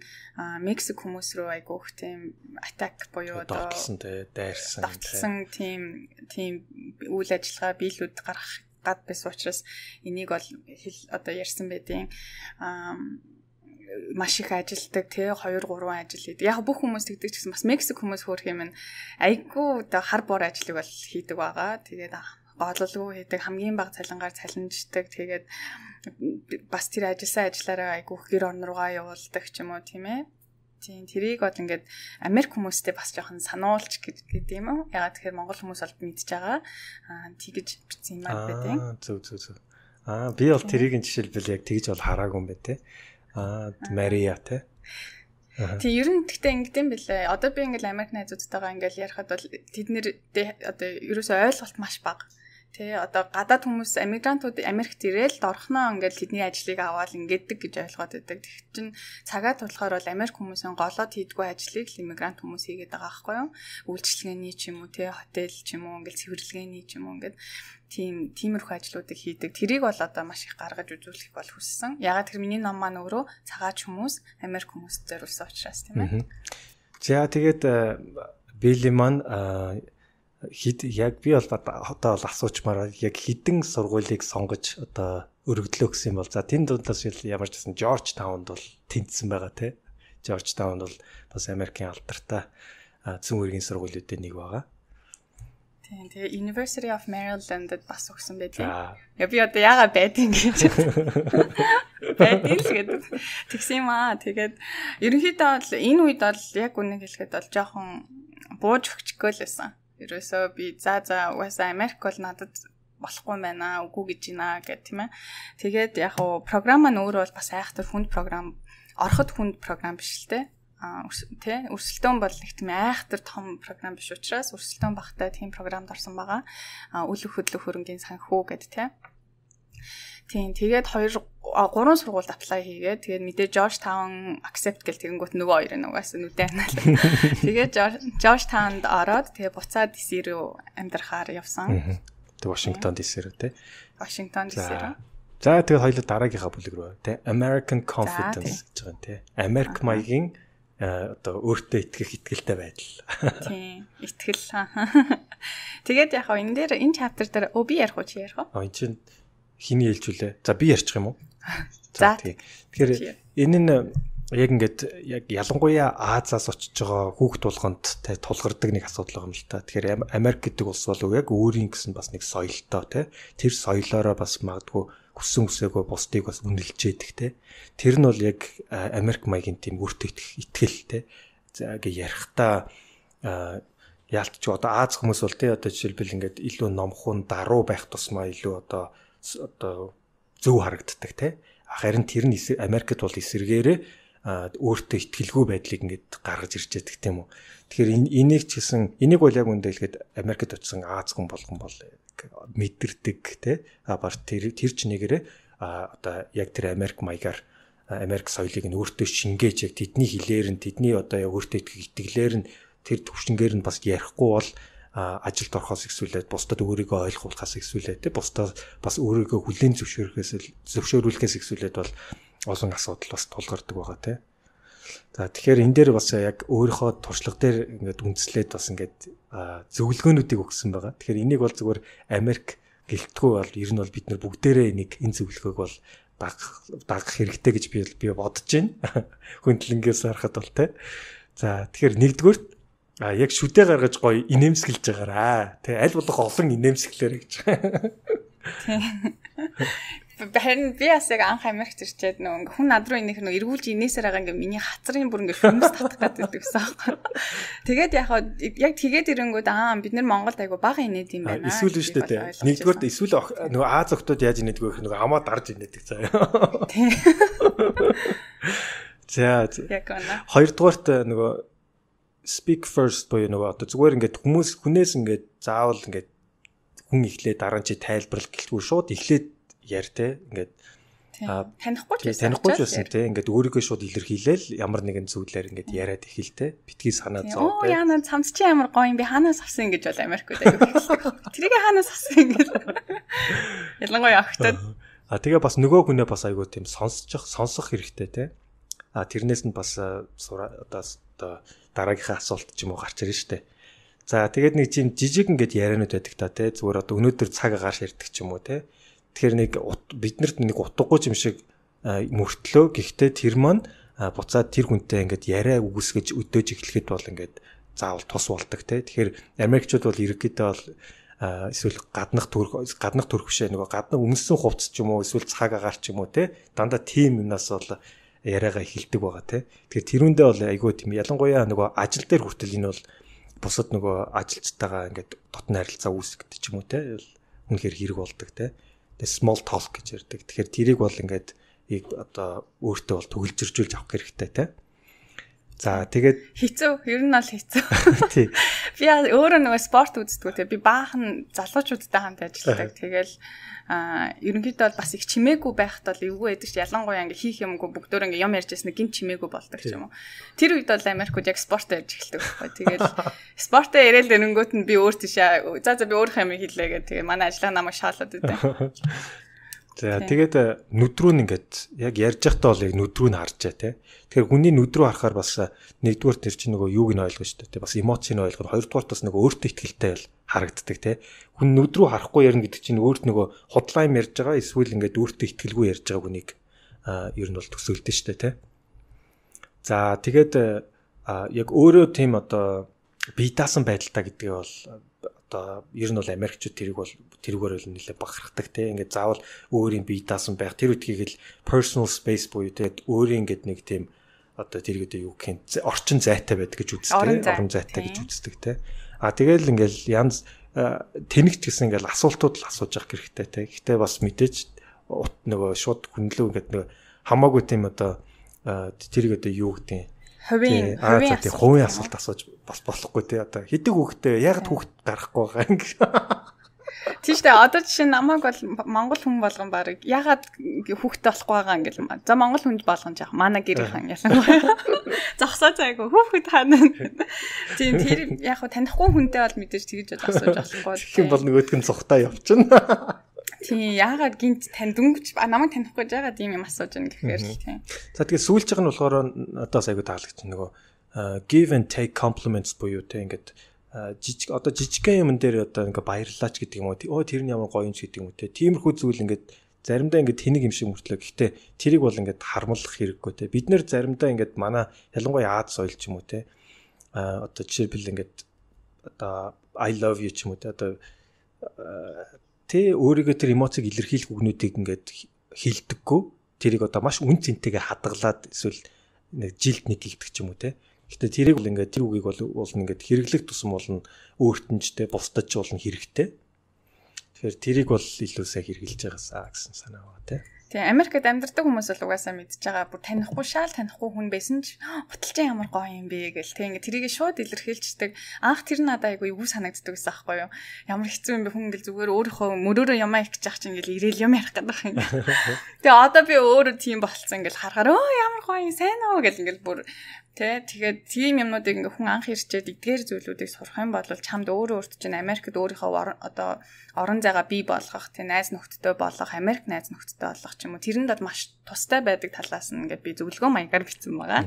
Мексик хүмүүс рүү айгүйх тийм attack буюу одоо давталсан тэ дайрсан давталсан тийм тийм үйл ажиллагаа биелүүд гаргах гад байсан учраас энийг бол одоо ярьсан байдیں۔ Маш их ажилдаг тий two three ажил хийдэг. Яг бүх хүмүүс тэгдэг ч гэсэн бас Мексик хүмүүс хөөх юм айгүй одоо хар бор ажлыг бол хийдэг байгаа. Тэгээд гололгүй хийдэг, хамгийн бага цалингаар цалинждаг. Тэгээд бас тэр ажилласан ажиллаараа айгүй гэр орн руугаа явуулдаг ч юм уу тийм ээ. Тийм тэрийг бол ингээд Америк хүмүүстэй бас жоохон сануулч гэдэг юм уу? Ягаад тэгэхээр Монгол хүмүүс бол мэдж байгаа. Аа тэгэж бичсэн юм аа гэдэг. Аа зөв зөв зөв. Аа би бол тэрийг жишээлбэл яг тэгж бол хараагүй юм бэ те. Аа Мария те. Тэг ер нь гэхдээ ингэдэм бэлээ. Одоо би ингээл Америк найзуудтайгаа ингээл ярихад бол тэд нэр одоо ерөөсөй ойлголт маш бага. Тэ одоо гадаад хүмүүс эмигрантууд Америкт ирээл дорхноо ингээл тэдний ажлыг аваад ингэдэг гэж ойлгоод байдаг. Тэг чин цагаат болохоор бол Америк хүмүүсийн голоод хийдгүү ажлыг иммигрант хүмүүс хийгээд байгаа байхгүй юу? Үйлчлэгээний ч юм уу тэ хотел ч юм уу ингээл цэвэрлэгээний ч юм уу ингээд тийм тиймэрхүү ажлуудыг хийдэг. Тэрийг бол одоо маш их гаргаж үзүүлэх бол хүссэн. Ягаад тэр миний ном маань өөрөө цагаач хүмүүс Америк хүмүүст зориулсан учраас тийм ээ. За тэгээд Билли маань хид яг би бол одоо бол асуучмаар яг хідэн сургуулийг сонгож одоо өргөдлөө гэсэн юм бол за тэнд дундаас ямар ч гэсэн Жорж Таунд бол тэнцсэн байгаа тий. Жорж Таунд бол бас Америкийн алдартай зүүн үргийн сургуулиудын нэг байгаа. Тийм тэгээ University of Maryland-д бас өгсөн байлээ. Я би одоо яага байдیں۔ гэж. Байдیں л гэдэг. Тэгсэн юм аа. Тэгээд ерөнхийдөө бол энэ үед бол яг үнийг хэлэхэд бол жоохон бууж өгчихгөө л байсан. Ерөөсөө би за за угаасаа Америк бол надад болохгүй юм байна үгүй гэж байна гэх тийм ээ. Тэгээд яг хуу програм маань өөрөө бол бас айхтар хүнд програм, ороход хүнд програм биш л те. А тий өрсөлдөөн бол нэг тийм айхтар том програм биш учраас өрсөлдөөн багтай тийм програмд орсон байгаа. А үл хөдлөх хөрөнгийн санхүү гэд тий. Тийм тэгээд хоёр гурван сургуульд apply хийгээд тэгээд мэдээ Georgetown accept гэл тэгэнгүүт нөгөө хоёр нь угаасаа нүдэн анаалаа. Тэгээд Georgetown-д ороод тэгээд буцаад ди си рүү амьдрахаар явсан. Тэгээд Washington ди си рүү тий. Washington ди си рүү. За тэгээд хоёул дараагийнхаа бүлэг рүү тий. American Confidence гэж байгаа юм тий. Америк маягийн одоо өөртөө итгэх итгэлтэй байдал. Тийм, итгэл. Тэгээд яг энэ дээр энэ chapter дээр өө би ярих уу чи ярих уу? А энэ чинь хиний хэлжүүлээ. За би ярьчих юм уу? За тэгэхээр энэ нь яг ингээд яг ялангуяа Азиас очиж байгаа хүүхд тулганд те тулгардаг нэг асуудал байгаа юм л та. Тэгэхээр Америк гэдэг улс бол яг өөрийн гэсэн бас нэг соёлтой те. Тэр соёлоороо бас магадгүй хүссэн үсээгөө бусдыг бас үнэлж яддаг те. Тэр нь бол яг Америк маягийн тийм өөртөө итгэл те. гэ ярихтаа яалтч одоо Аз хүмүүс бол тий одоо жишээлбэл ингээд илүү номхон даруу байх тусмаа илүү одоо одоо зөв харагддаг тий. Харин тэр нь Америкт бол эсэргээрээ өөртөө итгэлгүй байдлыг ингээд гаргаж ирж байдаг тийм үү. Тэгэхээр энийг ч гэсэн энийг бол яг үндэ хэлгээд Америкт очсон Аз хүн болгон бол мэдэрдэг тий. А бар тэр тэр ч нэгээрээ одоо яг тэр Америк маягаар Америк соёлыг нь өөртөө шингээж яг тэдний хэлээр нь тэдний одоо өөртөө итгэлээр нь тэр төвшингээр нь бас ярихгүй бол ажилд орохоос ихсүүлээд бусдад өөрийгөө ойлгуулахаас ихсүүлээд те бусдад бас өөрийгөө хүлээн зөвшөөрөхөөс зөвшөөрүүлэхээс ихсүүлээд бол олон асуудал бас тулгардаг байгаа те. За тэгэхээр энэ дээр бас яг өөрийнхөө туршлага дээр ингээд үндэслээд бас ингээд зөвлөгөөнүүдийг өгсөн байгаа. Тэгэхээр энийг бол зүгээр Америк гэлтгүй бол ер нь бол бид нар бүгдээрээ энийг энэ зөвлөгөөг бол дагах дагах хэрэгтэй гэж би би бодож байна. Хүндлэнгээс харахад бол те. За тэгэхээр нэгдүгээр а яг шүдэ гаргаж гоё инээмсэглэж байгаараа. Тэ аль болох олон инээмсэглээрэй гэж. Харин би бас яг анх Америкт ирчээд нөгөө хүн над руу инех нөгөө эргүүлж инээсээр байгаа ингээ миний хацрын бүр ингээ хүмүүс татах гэдэг гэсэн аахгүй. Тэгээд яг яг тэгээд ирэнгүүд аа бид нар Монголд айгу бага инээд юм байна. Эсвэл шүү дээ. Нэгдүгээр эсвэл нөгөө Аз охтууд яаж инээдэг вэ нөгөө хамаа дарж инээдэг заяа. За. Яг үнэ. Хоёрдугаарт нөгөө speak first боёо нөгөө одоо зүгээр ингээд хүмүүс хүнээс ингээд заавал ингээд хүн ихлээ дараа нь чи тайлбарлах гэлтгүй шууд ихлээд яар те ингээд танихгүй ч байсан танихгүй ч байсан те ингээд өөрийгөө шууд илэрхийлээл ямар нэгэн зүйлээр ингээд яриад ихэл те битгий санаа зов те. Оо яана цамц чи ямар гоё юм би хаанаас авсан гэж бол Америкууд аягүй хэлдэг. Тэрийг хаанаас авсан гэж. Ялангуяа охтод. А тэгээ бас нөгөө хүнээ бас айгүй тийм сонсчих сонсох хэрэгтэй те. А тэрнээс нь бас одоо одоо дараагийнхаа асуулт ч юм уу гарч ирнэ штэ. За тэгээд нэг тийм жижиг ингээд яриануд байдаг та тий зүгээр одоо өнөөдөр цаг агаар ширдэг ч юм уу тий. Тэгэхээр нэг биднэрт нэг утгагүй юм шиг мөртлөө гэхдээ тэр маань буцаад тэр хүнтэй ингээд яриа үгүйсгэж өдөөж эхлэхэд бол ингээд заавал тус болдог тий. Тэгэхээр Америкчууд бол ерөнхийдөө бол эсвэл гаднах төрх гаднах төрх бишээ нөгөө гаднах өмссөн хувцс ч юм уу эсвэл цаг агаар ч юм уу тий. Дандаа тим юмнаас бол яриагаа эхэлдэг байгаа тий. Тэгэхээр тэрүүндээ бол айгүй тийм ялангуяа нөгөө ажил дээр хүртэл энэ бол бусад нөгөө ажилчтайгаа ингээд дотны харилцаа үүсгдэг ч юм уу тий. Үнэхээр хэрэг болдог тий. Тэгээ small talk гэж ярьдаг. Тэгэхээр тэрийг бол ингээд одоо өөртөө бол төгөлжөржүүлж авах хэрэгтэй тий. За тэгээд хэцүү ер нь бол хэцүү. Тий. Би өөрөө нөгөө спорт үздэг тий. Би баахан залуучуудтай хамт ажилладаг. Тэгэл а ерөнхийдөө бол бас их чимээгүй байхад бол эвгүй байдаг ч ялангуяа ингээ хийх юмгүй бүгдөө ингээ юм ярьж яснаа гин чимээгүй болдог ч юм уу. Тэр үед бол Америкууд яг спорт ярьж эхэлдэг байхгүй. Тэгэл спортоо яриад өнгөт нь би өөр тийшээ за за би өөрийнхөө юм хийлээ гэх тэгээ манай ажлаа намайг шаалаад өгдөө. За тэгээд нүдрүү нь ингээд яг ярьж байхдаа бол яг нүдрүү нь харж байгаа тий. Тэгэхээр хүний нүдрүү харахаар бас нэгдүгээр тэр чинь нөгөө юуг нь ойлгож шүү дээ. Бас эмоцийг ойлгох. Хоёрдугаар бас нөгөө өөртөө ихтэй л харагддаг тий. Хүн нүдрүү харахгүй ярина гэдэг чинь өөрт нөгөө худлаа юм ярьж байгаа эсвэл ингээд өөртөө ихтгэлгүй ярьж байгаа хүнийг ер нь бол төсөөлдөг шүү дээ тий. За тэгээд яг өөрөө тийм одоо бие даасан байдалтай гэдгээ бол одоо ер нь бол Америкчууд тэрийг бол тэрүүгээр л нэлээд бахархдаг те ингээд заавал өөрийн бие даасан байх тэр үдгийг л personal space буюу те өөрийн ингээд нэг тийм одоо тэр гэдэг юу гэх юм орчин зайтай байдаг гэж үздэг орон зайтай гэж үздэг те а тэгэл ингээл янз тэнэгч гэсэн ингээл асуултууд л асууж явах хэрэгтэй те гэхдээ бас мэдээж нөгөө шууд хүнлүү ингээд нөгөө хамаагүй тийм одоо тэр гэдэг юу гэдэг хувийн хувийн хувийн асуулт асууж бас болохгүй тий одоо хэдэг хүүхдээ яг хүүхд гарахгүй байгаа юм. Тийштэй одоо жишээ намайг бол Монгол хүн болгон баг ягаад хүүхдтэй болохгүй байгаа юм гэл юм. За Монгол хүн болгон жаах манай гэрийнхэн ялангуяа зогсоо цайгүй хүүхэд хана. Тийм тэр яг танихгүй хүнтэй бол мэдээж тэгж асууж болохгүй. Тэгэх юм бол нөгөөдг нь цухтаа явчихна. Тийм яагаад гинт танд өнгөч намайг танихгүй жагаад ийм юм асууж байна гэхээр л тийм. За тэгээ сүүлж байгаа нь болохоор одоо сайгүй таалагч нөгөө give and take compliments буюу те ингээд жижиг одоо жижигхэн юм дээр одоо ингээ баярлаач гэдэг юм уу. Оо тэр нь ямар гоё юм ч гэдэг юм уу те. Тиймэрхүү зүйл ингээд заримдаа ингээд тэнийг юм шиг мөртлөө. Гэхдээ тэрийг бол ингээд хармалах хэрэггүй те. Бид нэр заримдаа ингээд манай ялангуяа Аз соёл ч юм уу те. А одоо жишээлбэл ингээд одоо I love you ч юм уу те. Одоо тэ өөрийгөө тэр эмоцийг илэрхийлэх үгнүүдийг ингээд хилдэггүй. Тэрийг одоо маш үн цэнтэйгээ хадгалаад эсвэл нэг жилд нэг хийдэг ч юм уу те. Гэтэ тэрийг бол ингээд тэр үгийг бол бол ингээд хэрэглэх тусам болно өөртөнчтэй бусдад ч болно хэрэгтэй. Тэгэхээр тэрийг бол илүү сайн хэрэгжилж байгаасаа гэсэн санаа байна тий. Тэгээ Америкт амьдардаг хүмүүс бол угаасаа мэдж байгаа. Бүр танихгүй шал танихгүй хүн байсан ч уталчин ямар гоё юм бэ гэл. Тэг ингээ тэрийг шууд илэрхийлждэг. Анх тэр надад айгүй юу санагддаг гэсэн аахгүй юу. Ямар хэцүү юм бэ хүн ингээл зүгээр өөрийнхөө мөрөөрөө ямаа их гэж чинь ингээл ирээл юм ярих гэдэг юм. Тэгээ одоо би өөрөө тийм болцсон ингээл харахаар өө ямар гоё юм сайн уу гэл ингээл бүр Тэ тэгээд тийм юмнуудыг ингээ хүн анх ирчээд эдгээр зүйлүүдийг сурах юм бол чамд өөрөө өөрт чинь Америкт өөрийнхөө одоо орон зайгаа бий болгох, тэ найз нөхдөдөө болох, Америк найз нөхдөдөө болох ч юм уу тэрэнд бол маш тустай байдаг талаас нь ингээ би зөвлөгөө маягаар бичсэн байгаа.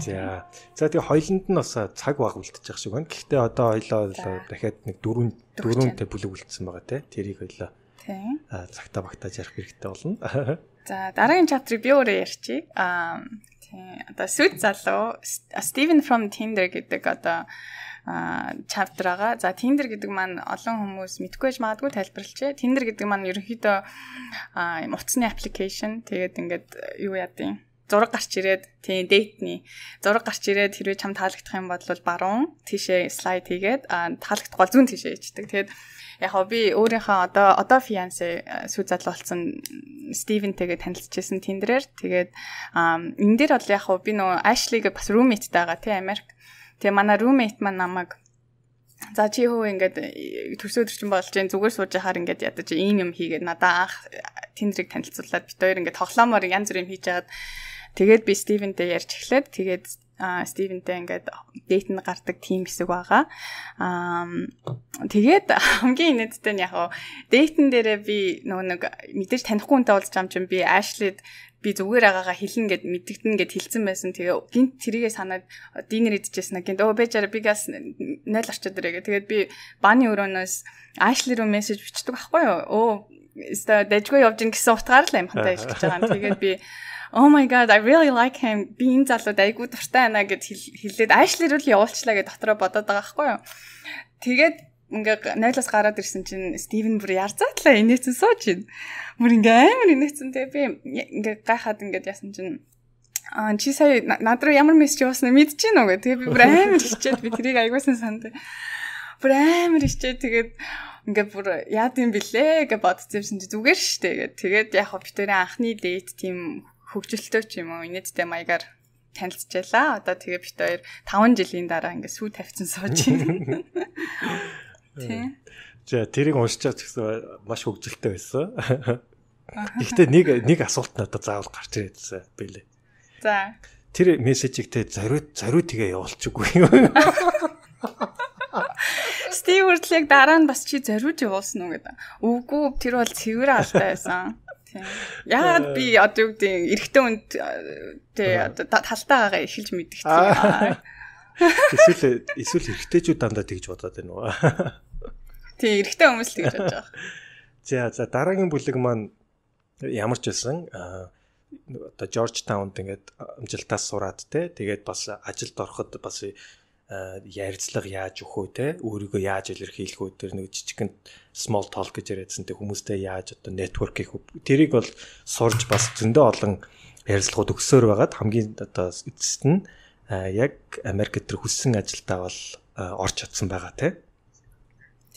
За. За тэгээ хоёланд нь бас цаг баг үлдчихэж шиг байна. Гэхдээ одоо хоёлоо дахиад нэг дөрвөн дөрвөнтэй бүлэг үлдсэн байгаа те. Тэрийг хоёлоо. Тийм. Аа цагтаа багтааж ярих хэрэгтэй болно. За дараагийн чаптрыг би өөрөө ярьчих. Аа тийм одоо сүд залуу Steven from Tinder гэдэг одоо chapter байгаа. За Tinder гэдэг маань олон хүмүүс мэдгүй байж магадгүй тайлбарлачээ. Tinder гэдэг маань ерөнхийдөө утасны application. Тэгээд ингээд юу яадیں۔ Зураг гарч ирээд тийм датений зураг гарч ирээд хэрвээ чам таалагдах юм бол баруун тийшээ слайд хийгээд таалагдахгүй бол зүүн тийшээ хийдэг. Тэгээд яг хоо би өөрийнхөө одоо одоо fiance сүү залуу болсон Стивентэйгээ танилцчихсан Tinder-ээр. Тэгээд энэ дээр бол яг хоо би нөө Ashley-гээ бас roommate таага тий Америк. Тэгээ манай roommate маань намайг за чи хөө ингээд төрсө өдрчин болж जैन зүгээр сууж яхаар ингээд ядаж ийм юм хийгээд надаа анх Tinder-ыг танилцуулаад бид хоёр ингээд тоглоомоор янз бүр юм хийж хагаад тэгээд би Стивентэй ярьж эхлээд тэгээд Стивентэй ингээд дейт нь гардаг тим хэсэг байгаа. Аа тэгээд хамгийн инээдтэй нь яг дейтэн дээрээ би нөгөө нэг мэдээж танихгүй хүнтэй уулзч юм чинь би Ashley-д би зүгээр агаагаа хэлнэ гэд мэддэгтэн гэд хэлсэн байсан. Тэгээ гинт тэрийгээ санаад динер идчихсэн. Гинт өө бэжара би газ нойл орчод ирээ. Тэгээд би бааны өрөөнөөс Ashley руу мессеж бичдэг байхгүй юу? Өө өстө дэжгүй явж ин гэсэн утгаар л юм хантай хэлж байгаа. Тэгээд би oh my god I really like him. Би энэ залууд айгуу дуртай байна гэд хэлээд Ashley руу л явуулчлаа гэд дотроо бодоод байгаа байхгүй юу? Тэгээд ингээ нойлоос гараад ирсэн чинь Стивен бүр ярзаатлаа инээсэн сууж ин. Бүр ингээ амар инээсэн те би ингээ гайхаад ингээ яасан чинь аа чи сая над руу ямар мессеж явуулснаа мэдчихэв нүгөө. Тэгээ би бүр амар хичээд би тэрийг аягуулсан санд. Бүр амар хичээд тэгээд ингээ бүр яад юм бэлээ гэж бодчихсон чи зүгээр штэ гэд. Тэгээд яг хөө битэрийн анхны дейт тийм хөгжилтэй ч юм уу инээдтэй маягаар танилцчихлаа. Одоо тэгээ бит хоёр таван жилийн дараа ингээ сүү тавьсан сууж байна. Тийм. За тэрийг уншичаад гэсэн маш хөгжилтэй байсан. Гэхдээ нэг нэг асуулт надад заавал гарч ирээдсэн байлээ. За. Тэр мессежийг те зориуд зориуд тэгээ явуулчихгүй юм. Стив үрдлэг дараа нь бас чи зориуд явуулсан уу гэдэг. Үгүй тэр бол цэвэр алтай байсан. Тийм. Яагаад би одоо юу гэдэг эрэгтэй хүнд тий одоо талтаагаа эхэлж мэдчихсэн. Эсвэл эсвэл эрэгтэйчүүд дандаа тэгж бодоод байна уу? Тий, эрэгтэй хүмүүс л тэгж бодож байгаа. За за дараагийн бүлэг маань ямар ч байсан одоо Georgetowнд ингээд амжилтаас сураад те тэгээд бас ажилд ороход бас ярилцлага яаж өгөх үү те өөрийгөө яаж илэрхийлэх үү тэр нэг жижигэн small talk гэж яриадсан те хүмүүстэй яаж одоо network хийх тэрийг бол сурж бас зөндөө олон ярилцлагууд өгсөөр байгаад хамгийн одоо эцэст нь яг Америкт тэр хүссэн ажилдаа бол орж чадсан байгаа те.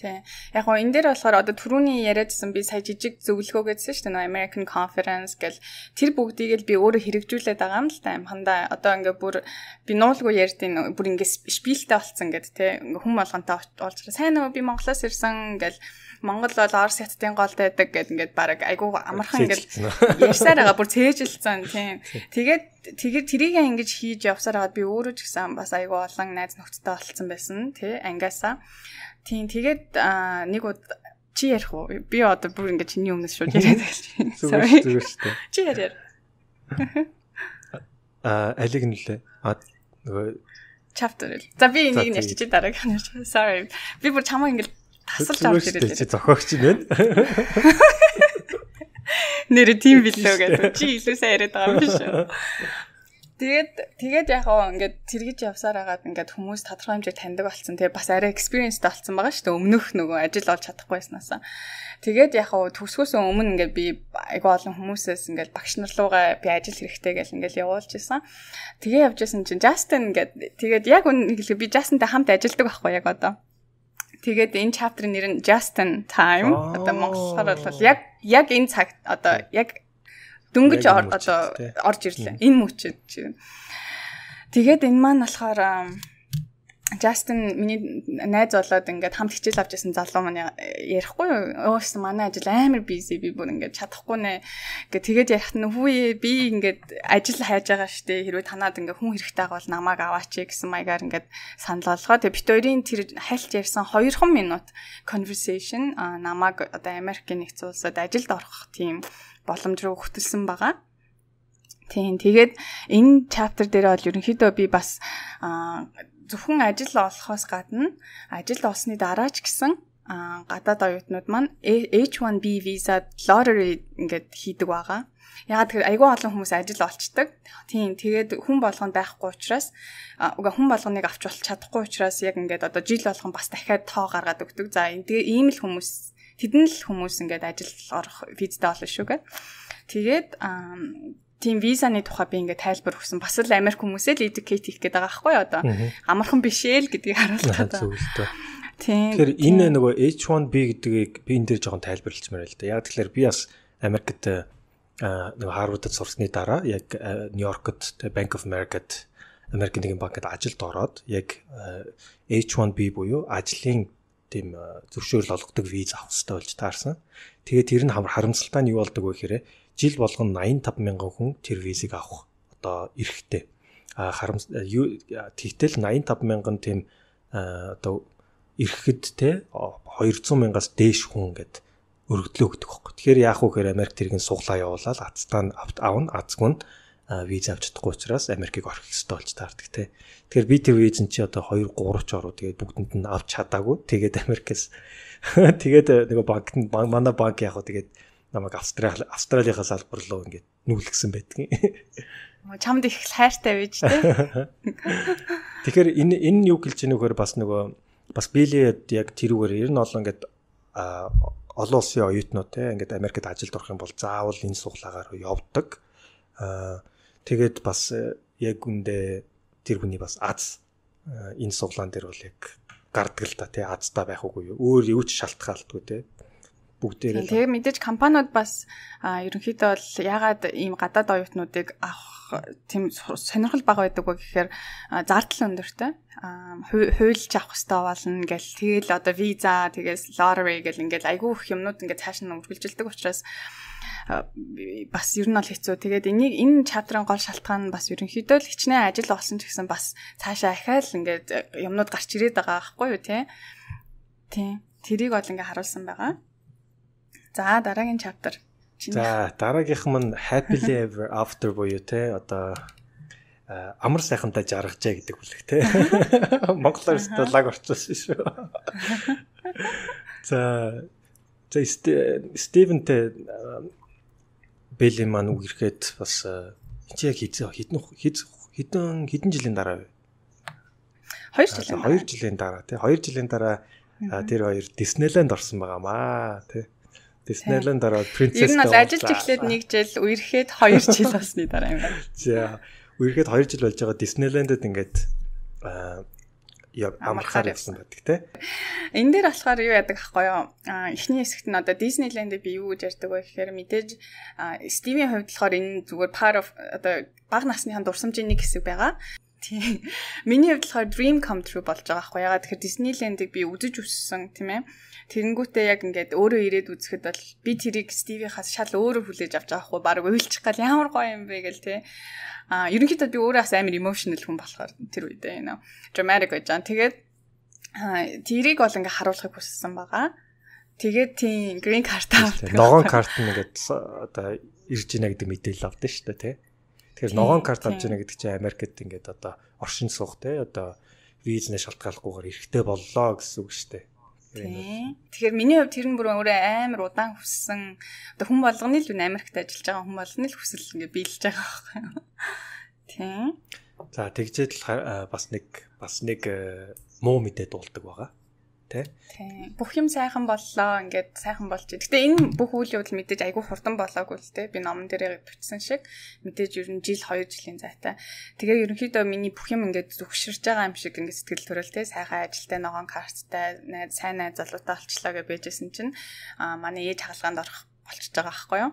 Тий. Яг гоо энэ дээр болохоор одоо түрүүний яриадсан би сая жижиг зөвлөгөө гэдсэн шүү дээ. American Conference гэл тэр бүгдийг л би өөрөө хэрэгжүүлээд байгаа юм л та амхандаа. Одоо ингээ бүр би нуулгүй ярьдیں۔ Бүр ингээ шпилтэй болцсон гэд те. Ингээ хүм болгонтой уулзраа. Сайн уу би Монголоос ирсэн гэл Монгол бол Орос хятадын голд байдаг гэд ингээд баг айгуу амархан ингээд ярьсаар байгаа бүр цээжилсэн тийм. Тэгээд тэгээд тэрийг ингэж хийж явсаар хагаад би өөрөө ч гэсэн бас айгуу олон найз нөхдөдтэй болцсон байсан тий ангиасаа. Тийм тэгээд нэг ud чи ярих уу? Би одоо бүр ингэ чиний өмнөөс шууд яриад байна. Зүгээр зүгээр шүү дээ. Чи яриа. Аа алиг нэлээ. Аа нөгөө chapter. За би энийг нь ярьчих чи дараагийн нь ярьчих. Sorry. Би бүр чамаа ингэ тасалж авч ирээд. Чи зохиогч юм байна. Нэр тийм билүү гэдэг. Чи илүү сайн яриад байгаа юм биш үү? Тэгээд тэгээд яг гоо ингээд тэргэж явсаар хагаад ингээд хүмүүс тодорхой хэмжээ таньдаг болсон. Тэгээд бас арай экспириенстэй болсон байгаа шүү дээ. Өмнөх нөгөө ажил олж чадахгүйснасаа. Тэгээд яг гоо төгсгөөс өмнө ингээд би айгүй олон хүмүүсээс ингээд багш нар руугаа би ажил хэрэгтэй гэж ингээд явуулж исэн. Тэгээ явж исэн чинь Justin ингээд тэгээд яг үн хэлээ би Justin-тай хамт ажилладаг байхгүй яг одоо. Тэгээд энэ chapter-ийн нэр нь Justin Time. Одоо монголоор бол яг яг энэ цаг одоо яг дөнгөж одоо орж ирлээ. Энэ мөчөд чинь. Тэгээд энэ маань болохоор Justin миний найз болоод ингээд хамт хичээл авч байсан залуу маань ярихгүй өөс манай ажил амар busy би бүр ингээд чадахгүй нэ. Ингээд тэгээд ярихт нь хүүе би ингээд ажил хайж байгаа штэ хэрвээ танаад ингээд хүн хэрэгтэй байгаа бол намайг аваач гэсэн маягаар ингээд санал болгоо. Тэгээд бит хоёрын тэр хальт ярьсан хоёр минут conversation намайг одоо Америкийн нэгдсэн улсад ажилд орох тийм боломж руу хөтөлсөн байгаа. Тийм. Тэгээд энэ chapter дээр бол ерөнхийдөө би бас зөвхөн ажил олохоос гадна ажил олсны дараа ч гэсэн гадаад оюутнууд маань H one B visa lottery ингээд хийдэг байгаа. Ягаад тэгэхээр айгүй олон хүмүүс ажил олцдог. Тийм. Тэгээд хүн болгонд байхгүй учраас уга хүн болгоныг авч болж чадахгүй учраас яг ингээд одоо жил болгон бас дахиад тоо гаргаад өгдөг. За тэгээ ийм л хүмүүс тэдэн л хүмүүс ингээд ажил орох визтэй болно шүү гэ. Тэгээд тийм визаны тухай би ингээд тайлбар өгсөн. Бас л Америк хүмүүсээ л educate хийх гэдэг байгаа байхгүй одоо. Амархан биш ээ л гэдгийг харуулах гэдэг. Тийм. Тэгэхээр энэ нөгөө H one B гэдгийг би энэ дээр жоохон тайлбарлалчмаар л да. Яг тэгэхээр би бас Америкт нөгөө Харвардд сурсны дараа яг Нью-Йоркт Bank of America-д Америкийн нэгэн банкад ажилд ороод яг H one B буюу ажлын тийм зөвшөөрөл олгодог виз авах хэрэгтэй болж таарсан. Тэгээд тэр нь харамсалтай нь юу болдог вэ гэхээр жил болгон eighty-five мянган хүн тэр визийг авах одоо эрэхтэй. А харамс тэгтэл eighty-five мянган тийм одоо эрэхэд те two hundred мянгаас дээш хүн ингээд өргөдлөө өгдөг байхгүй. Тэгэхээр яах вэ гэхээр Америк тэрийг суглаа явуулаад ацтаа авна, ацгүй нь виз авч чадахгүй учраас Америкийг орох хэрэгтэй болж таардаг те. Тэгэхээр би тэр визэн чи одоо two three ч ороо тэгээд бүгдэнд нь авч чадаагүй. Тэгээд Америкээс тэгээд нөгөө банкт манай банк яг хөө тэгээд намайг Австрали Австралийнхаа салбар руу ингээд нүүлгсэн байдгийн. Чамд их хайртай байж те. Тэгэхээр энэ энэ юу гэлж ийнэхээр бас нөгөө бас билет яг тэрүүгээр ер нь олон ингээд олон улсын оюутнууд те ингээд Америкт ажилд орох юм бол заавал энэ суглагаар явдаг. Аа тэгээд бас яг үндэ тэр хүний бас аз энэ суглаан дээр бол яг гардаг л та тий азтай байх үгүй юу. Өөр юу ч шалтгаалдгүй те. Бүгдээрээ. Тэгээ мэдээж компаниуд бас ерөнхийдөө бол ягаад ийм гадаад оюутнуудыг авах тийм сонирхол бага байдаг вэ гэхээр зардал өндөртэй. Хуульч авах хэрэгтэй болно гэл тэгэл одоо виза тэгээс lottery гэл ингээл айгүй их юмнууд ингээд цааш нь үргэлжилдэг учраас бас ер нь бол хэцүү. Тэгээд энийг энэ чаптрын гол шалтгаан нь бас ерөнхийдөө л хичнээн ажил олсон ч гэсэн бас цаашаа ахаал ингээд юмнууд гарч ирээд байгаа байхгүй юу те. Тийм. Тэрийг бол ингээд харуулсан байгаа. За дараагийн chapter. За дараагийнх нь happily ever after буюу те одоо амар сайхантай жаргажээ гэдэг бүлэг те. Монголоор лаг орчуулсан шүү. За за Стивентэй Бэли маань үг ирэхэд бас чи яг хизээ хідэн хідэн хідэн жилийн дараа вэ? two жилийн two жилийн дараа те two жилийн дараа тэр хоёр Disneyland орсон байгаамаа те. Disneyland дараа Princess. Ер нь бол ажиллаж эхлээд нэг жил, үерхэд two жил болсны дараа юм байна. За, үерхэд two жил болж байгаа Disneyland-д ингээд аа яг амархаар явсан байдаг те. Энэ дээр болохоор юу яадаг ахгүй юу? Эхний хэсэгт нь одоо Disneyland-д би юу гэж ярьдаг вэ гэхээр мэдээж Стивийн хувьд болохоор энэ зүгээр part of одоо бага насныхан дурсамжийн нэг хэсэг байгаа. Тийм. Миний хувьд болохоор dream come true болж байгаа хгүй ягаад тэгэхээр Disneyland-ыг би үзэж өссөн тийм ээ. Тэгэнгүүтээ яг ингээд өөрөө ирээд үзэхэд бол би тэрийг Стивийнхаас шал өөрөө хүлээж авч байгаа хгүй баг уйлчих гал ямар гоё юм бэ гэл тий. А ерөнхийдөө би өөрөө бас амар emotional хүн болохоор тэр үедээ you know dramatic гэж жаа. Тэгээд тэрийг бол ингээд харуулахыг хүссэн байгаа. Тэгээд тийм green card-аа ногоон карт нь ингээд одоо ирж ийна гэдэг мэдээлэл авдсан шүү дээ тий. Тэгэхээр ногоон карт авч яана гэдэг чинь Америкт ингээд одоо оршин суух те одоо визнэ шалтгааллахгүйгээр эрэхтэй боллоо гэсэн үг шүү дээ. Тэгэхээр миний хувьд тэр нь бүр өөрөө амар удаан хүссэн одоо хүн болгоны л Америкт ажиллаж байгаа хүн болгоны л хүсэл ингээд биелж байгаа байхгүй юу. Тийм. За тэгжээд бас нэг бас нэг муу мэдээ дуулдаг байгаа. Тэ? Тийм. Бүх юм сайхан боллоо. Ингээд сайхан болж. Гэтэ энэ бүх үйл явдал мэдээж айгүй хурдан болоогүй л тэ. Би номон дээрээ бичсэн шиг мэдээж ер нь жил хоёр жилийн зайтай. Тэгээ ерөнхийдөө миний бүх юм ингээд зүгширж байгаа юм шиг ингээд сэтгэл төрөл тэ. Сайхан ажилтай ногоон карттай, сайн найз залуутай олчлоо гэж байжсэн чинь аа манай ээж хагалгаанд орох болчихж байгаа байхгүй юу?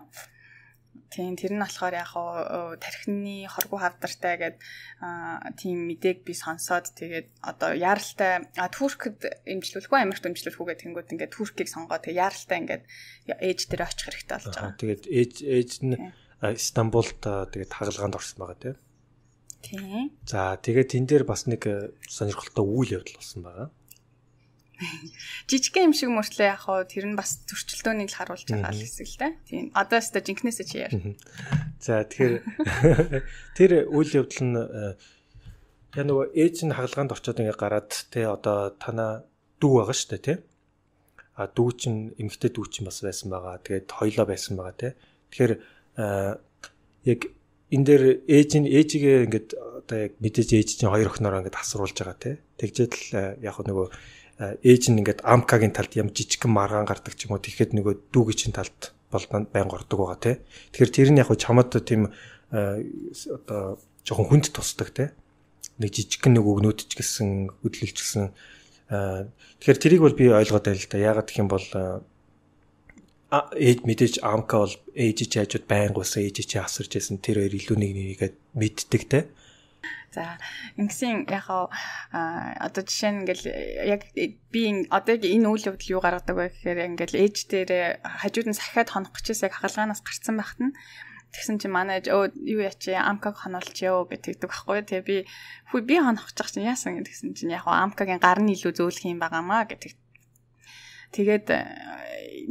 Тийм тэр нь болохоор яг хоо тархины хоргоо хавдартай гэдэг тийм мэдээг би сонсоод тэгээд одоо яаралтай Туркид эмчлүүлэх үү Америкт эмчлүүлэх үү гэх тэнгууд ингээд Туркийг сонгоо тэгээд яаралтай ингээд ээж дээр очих хэрэгтэй болж байгаа. Тэгээд ээж ээж нь Стамбулд тэгээд хагалгаанд орсон байгаа тийм. Тийм. За тэгээд тэн дээр бас нэг сонирхолтой үйл явдал болсон байгаа. Жижигхэн юм шиг мөртлөө яг хоо тэр нь бас зөрчилдөөнийг л харуулж байгаа л хэсэг л дээ. Тийм. Одоо өстө жинкнээсээ чи яар. За тэгэхээр тэр үйл явдал нь яа нөгөө ээж нь хагалгаанд орчоод ингээ гараад те одоо танаа дүү байгаа шүү дээ те. А дүү чинь эмэгтэй дүү чинь бас байсан байгаа. Тэгээд хоёлоо байсан байгаа те. Тэгэхээр яг энэ дээр ээж нь ээжигээ ингээд одоо яг мэдээж ээж чинь хоёр охиноороо ингээд асруулж байгаа те. Тэгжээд л яг нөгөө ээж нь ингээд амкагийн талд ям жижигхэн маргаан гардаг ч юм уу тэгэхэд нөгөө дүүгийн талд бол байнга ордог байгаа тий. Тэгэхээр тэр нь яг чамд тийм одоо жоохон хүнд тусдаг тий. Нэг жижигхэн нэг өгнүүд ч гэсэн хөдөлгөлч гэсэн тэгэхээр тэрийг бол би ойлгоод байл л да. Яагаад гэх юм бол ээж мэдээж амка бол ээж чи хажууд байнга уусаа ээж чи асарч байсан тэр хоёр илүү нэг нэгээд мэддэг тий. За ингэсэн яг одоо жишээ нь ингээл яг би одоо энэ үйл явдал юу гаргадаг вэ гэхээр ингээл ээж дээр хажууд нь сахиад хонох гэжээс яг хагалгаанаас гарцсан байхад нь тэгсэн чинь манай ээж өө юу яачи амкаг хонолчихё гэдэг байхгүй тэгээ би хүү би хонох гэж чинь яасан гэдгсэн чинь яг амкагийн гар нь илүү зөөлөх юм байгаамаа гэдэг. Тэгээд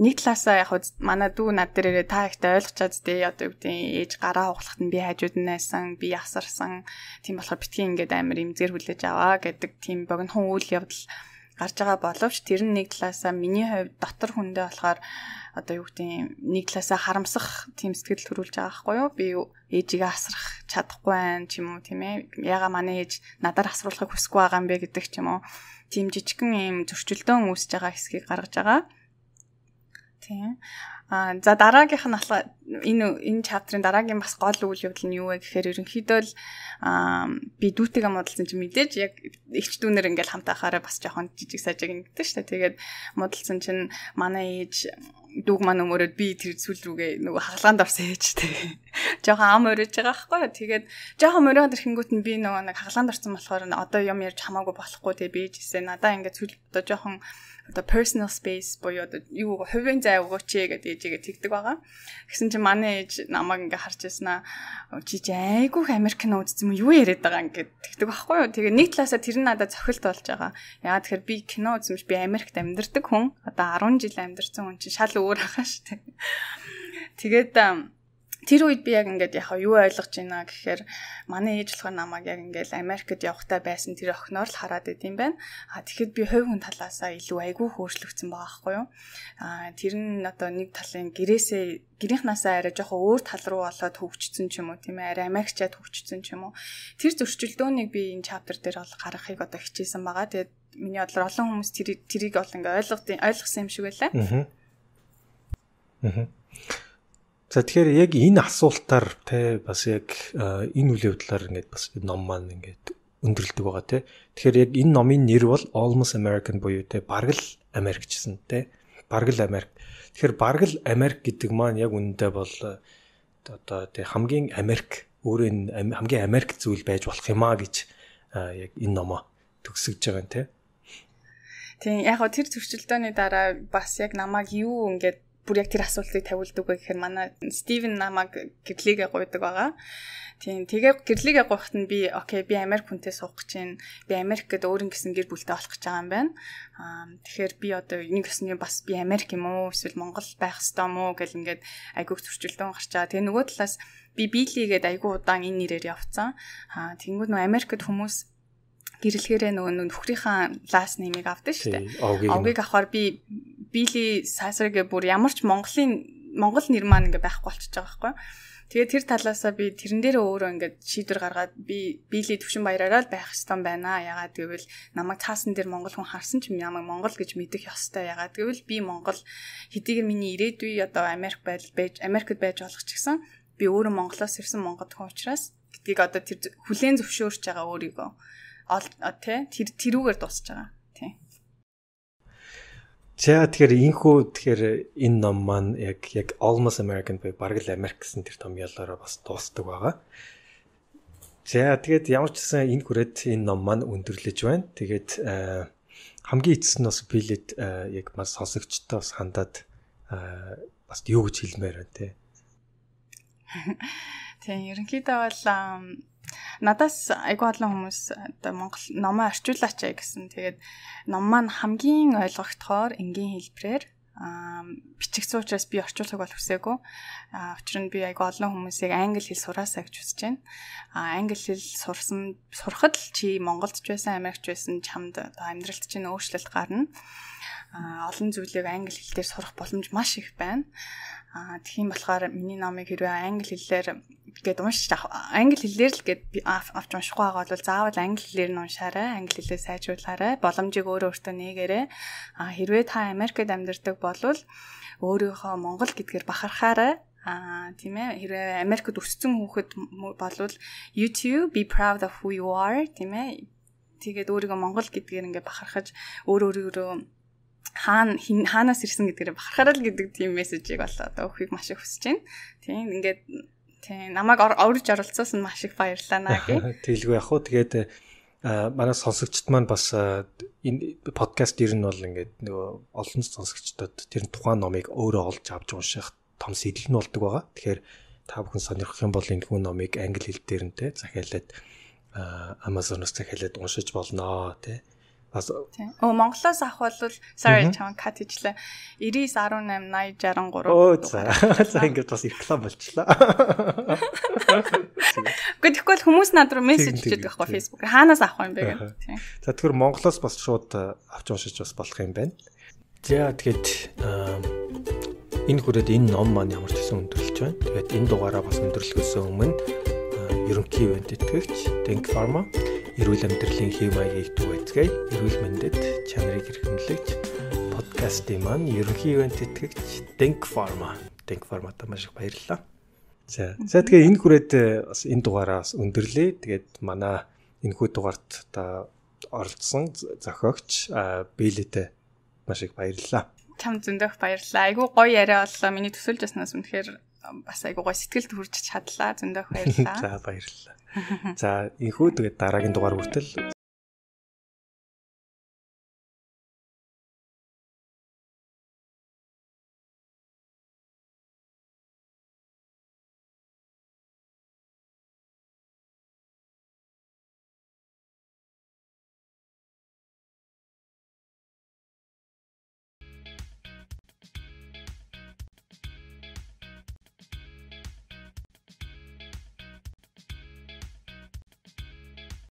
нэг талаасаа яг манай дүү над дээрээ та ихтэй ойлгочаад дээ одоо юу гэдэг ээж гараа хугалахад нь би хажууд нь найсан би ясарсан тийм болохоор битгий ингээд амар имзэр хүлээж аваа гэдэг тийм богинохон үйл явдал гарч байгаа боловч тэр нь нэг талаасаа миний хувьд дотор хүндээ болохоор одоо юу гэдэг нэг талаасаа харамсах тийм сэтгэл төрүүлж байгаа байхгүй юу би ээжигээ асрах чадахгүй байх ч юм уу тийм ээ яга манай ээж надаар асруулахыг хүсэхгүй байгаа юм бэ гэдэг ч юм уу тийм жижигхэн юм зөрчилдөөн үүсэж байгаа хэсгийг гаргаж байгаа. Тийм. Аа за дараагийнх нь болохоор энэ энэ чаптрын дараагийн бас гол үйл явдал нь юу вэ гэхээр ерөнхийдөө л аа би дүүтэйгээ модалсан чинь мэдээж яг ихч дүүнэр ингээл хамтаахаараа бас жоохон жижиг сажиг ингэдэж штэ. Тэгээд модалсан чинь манай ээж дүүг маань өмөрөөд би тэр зүйл рүүгээ нөгөө хагалгаанд орсон ээжтэй. Жоохон ам өрөөж байгаа байхгүй юу. Тэгээд жоохон мөрөөд ирэнгүүт нь би нөгөө нэг хагалгаанд орсон болохоор одоо юм ярьж хамаагүй болохгүй тэгээ би ээжээсээ надаа ингээд зүйл одоо жоохон одоо personal space боёо одоо юу хувийн зай өгөөч гэдэг ээжигээ тэгдэг байгаа. Гэсэн чинь манай ээж намайг ингээд харж яснаа чи чи айгүйх Америкэн үзсэн юм юу яриад байгаа ингээд тэгдэг байхгүй юу. Тэгээ нэг талаасаа тэр нь надад цохилт болж байгаа. Яагаад тэгэхээр би кино үзсэн биш би Америкт амьдардаг хүн. Одоо арван жил амьдарсан хүн чинь шал өөр ахаа шүү дээ. Тэгээд тэр үед би яг ингээд яхаа юу ойлгож байна гэхээр манай ээж болохоор намайг яг ингээд Америкт явахтай байсан тэр охиноор л хараад идэм байна. А тэгэхэд би хувь хүн талаасаа илүү айгүй хөөрчлөгдсөн байгаа байхгүй юу. А тэр нь одоо нэг талын гэрээсээ гэрийнхнаасаа арай жоохон өөр тал руу болоод хөгжсөн ч юм уу тийм ээ арай Америкчаад хөгжсөн ч юм уу. Тэр зөрчилдөөнийг би энэ чаптер дээр бол гаргахыг одоо хичээсэн байгаа. Тэгээд миний бодлоор олон хүмүүс тэр тэрийг бол ингээд ойлгох ойлгосон юм шиг байлаа. Аа. Аа. За тэгэхээр яг энэ асуултаар те бас яг энэ үйл явдлаар ингээд бас ном маань ингээд өндөрлөдөг байгаа те. Тэгэхээр яг энэ номын нэр бол Almost American буюу те бараг л Америк гэсэн те. Бараг л Америк. Тэгэхээр бараг л Америк гэдэг маань яг үнэндээ бол одоо те хамгийн Америк өөрөө хамгийн Америк зүйл байж болох юм а гэж яг энэ номоо төгсөж байгаа юм те. Тийм яг гоо тэр зөрчилдөөний дараа бас яг намайг юу ингээд бүр яг тэр асуултыг тавилдаг вэ гэхээр манай Стивен намайг гэрлийгээ гуйдаг байгаа. Тийм тэгээ гэрлийгээ гуйхад нь би окей би Америк хүнтэй суух гэж байна. Би Америк гэдэг өөрийн гэсэн гэр бүлтэй болох гэж байгаа юм байна. Аа тэгэхээр би одоо нэг өсний бас би Америк юм уу эсвэл Монгол байх ёстой юм уу гэл ингээд айгүйх зөрчилдөөн гарч байгаа. Тэгээ нөгөө талаас би бийлигээд айгүй удаан энэ нэрээр явцсан. Аа тэгэнгүүт нөгөө Америкт хүмүүс гэрлэхээрээ нөгөө нөхрийнхаа ласт нэмийг авдаг шүү дээ. Овгийг авахаар би Били Сасарගේ бүр ямар ч Монголын Монгол нэр маань ингээ байхгүй болчихж байгаа байхгүй. Тэгээд тэр талаасаа би тэрэн дээр өөрөө ингээд шийдвэр гаргаад би биелийн төвшин баяраараа л байх ёстой байна. Ягаад гэвэл намайг цаасан дээр Монгол хүн харсан ч намайг Монгол гэж мэдэх ёстой. Ягаад гэвэл би Монгол хэдийгээр миний ирээдүй одоо Америк байж Америкт байж болох ч гэсэн би өөрөө Монголоос ирсэн монгол хүн учраас гэдгийг одоо тэр хүлээн зөвшөөрч байгаа өөрийгөө тий тэр тэрүүгээр дуусч байгаа. Тий. За тэгэхээр инхүү тэгэхээр энэ ном маань яг яг Almost American буюу бараг л Америк гэсэн тэр том ялаараа бас дуустдаг байгаа. За тэгээд ямар ч гэсэн энэ хүрээд энэ ном маань өндөрлөж байна. Тэгээд хамгийн эцэст нь бас билет яг маш сонсогчтой бас хандаад бас юу гэж хэлмээр байна те. Тийм ерөнхийдөө бол надаас айгүй олон хүмүүс одоо Монгол номоо орчуулаач гэсэн. Тэгээд ном маань хамгийн ойлгогдохоор энгийн хэлбэрээр бичигдсэн учраас би орчуулахыг бол хүсээгүй. Учир нь би айгүй олон хүмүүсийг англи хэл сураасаа гэж хүсэж байна. Англи хэл сурсан сурахад л чи Монголд ч байсан, Америкт ч байсан чамд одоо амьдралд чинь өөрчлөлт гарна. Олон зүйлийг англи хэлээр сурах боломж маш их байна. Аа тийм болохоор миний номыг хэрвээ англи хэлээр гээд уншиж англи хэлээр л гээд авч уншихгүй байгаа бол заавал англи хэлээр нь уншаарай, англи хэлээ сайжруулаарай, боломжийг өөрөө өөртөө нээгээрэй. Аа хэрвээ та Америкт амьдардаг болвол өөрийнхөө Монгол гэдгээр бахархаарай. Аа тийм ээ хэрвээ Америкт өссөн хүүхэд болвол YouTube be proud of who you are тийм ээ. Тэгээд өөрийгөө Монгол гэдгээр ингээ бахархаж өөр өөрөөрөө хаана хаанаас ирсэн гэдгээр бахархаарай л гэдэг тийм мессежийг бол одоо өгөхийг маш их хүсэж байна. Тийм ингээд тийм намайг орж оролцсон нь маш их баярлалаа наа гээ. Тэгэлгүй яг хуу тэгээд манай сонсогчд маань бас энэ подкаст ер нь бол ингээд нөгөө олон сонсогчдод тэр тухайн номыг өөрөө олж авч унших том сэтэл нь болдог байгаа. Тэгэхээр та бүхэн сонирхох юм бол энэ хүн номыг англи хэл дээр нь те захиалаад Amazon-оос захиалаад уншиж болно те. Оо Монголоос авах бол sorry чам кат хийчлээ. девять один восемь ноль шесть три. Оо за. За ингээд бас реклам болчлаа. Гэхдээ тэгвэл хүмүүс над руу мессеж хийдэг байхгүй Facebook. Хаанаас авах юм бэ гэдэг. Тийм. За тэгэхээр Монголоос бас шууд авч уншиж бас болох юм байна. За тэгэхэд энэ хүрээд энэ ном маань ямар ч гэсэн өндөрлөж байна. Тэгээд энэ дугаараа бас өндөрлөхөөс өмнө ерөнхий ивент итгэгч Think Pharma эрүүл амьдралын хэв маягийг түгээцгээе. Эрүүл мэндэд чанарыг хэрхэмлэгч подкастын маань ерөнхий ивент итгэгч Think Pharma. Think Pharma-та маш их баярлалаа. За. За тэгээ энэ хүрээд бас энэ дугаараа бас өндөрлөө. Тэгээд манай энэ хүү дугаарт та оролцсон зохиогч Билетэй маш их баярлалаа. Чам зөндөх баярлалаа. Айгу гоё яриа боллоо. Миний төсөлж яснаас үнэхээр бас айгу гоё сэтгэлд хүрч чадлаа. Зөндөх баярлалаа. За баярлалаа. За энхүү тэгээд дараагийн дугаар хүртэл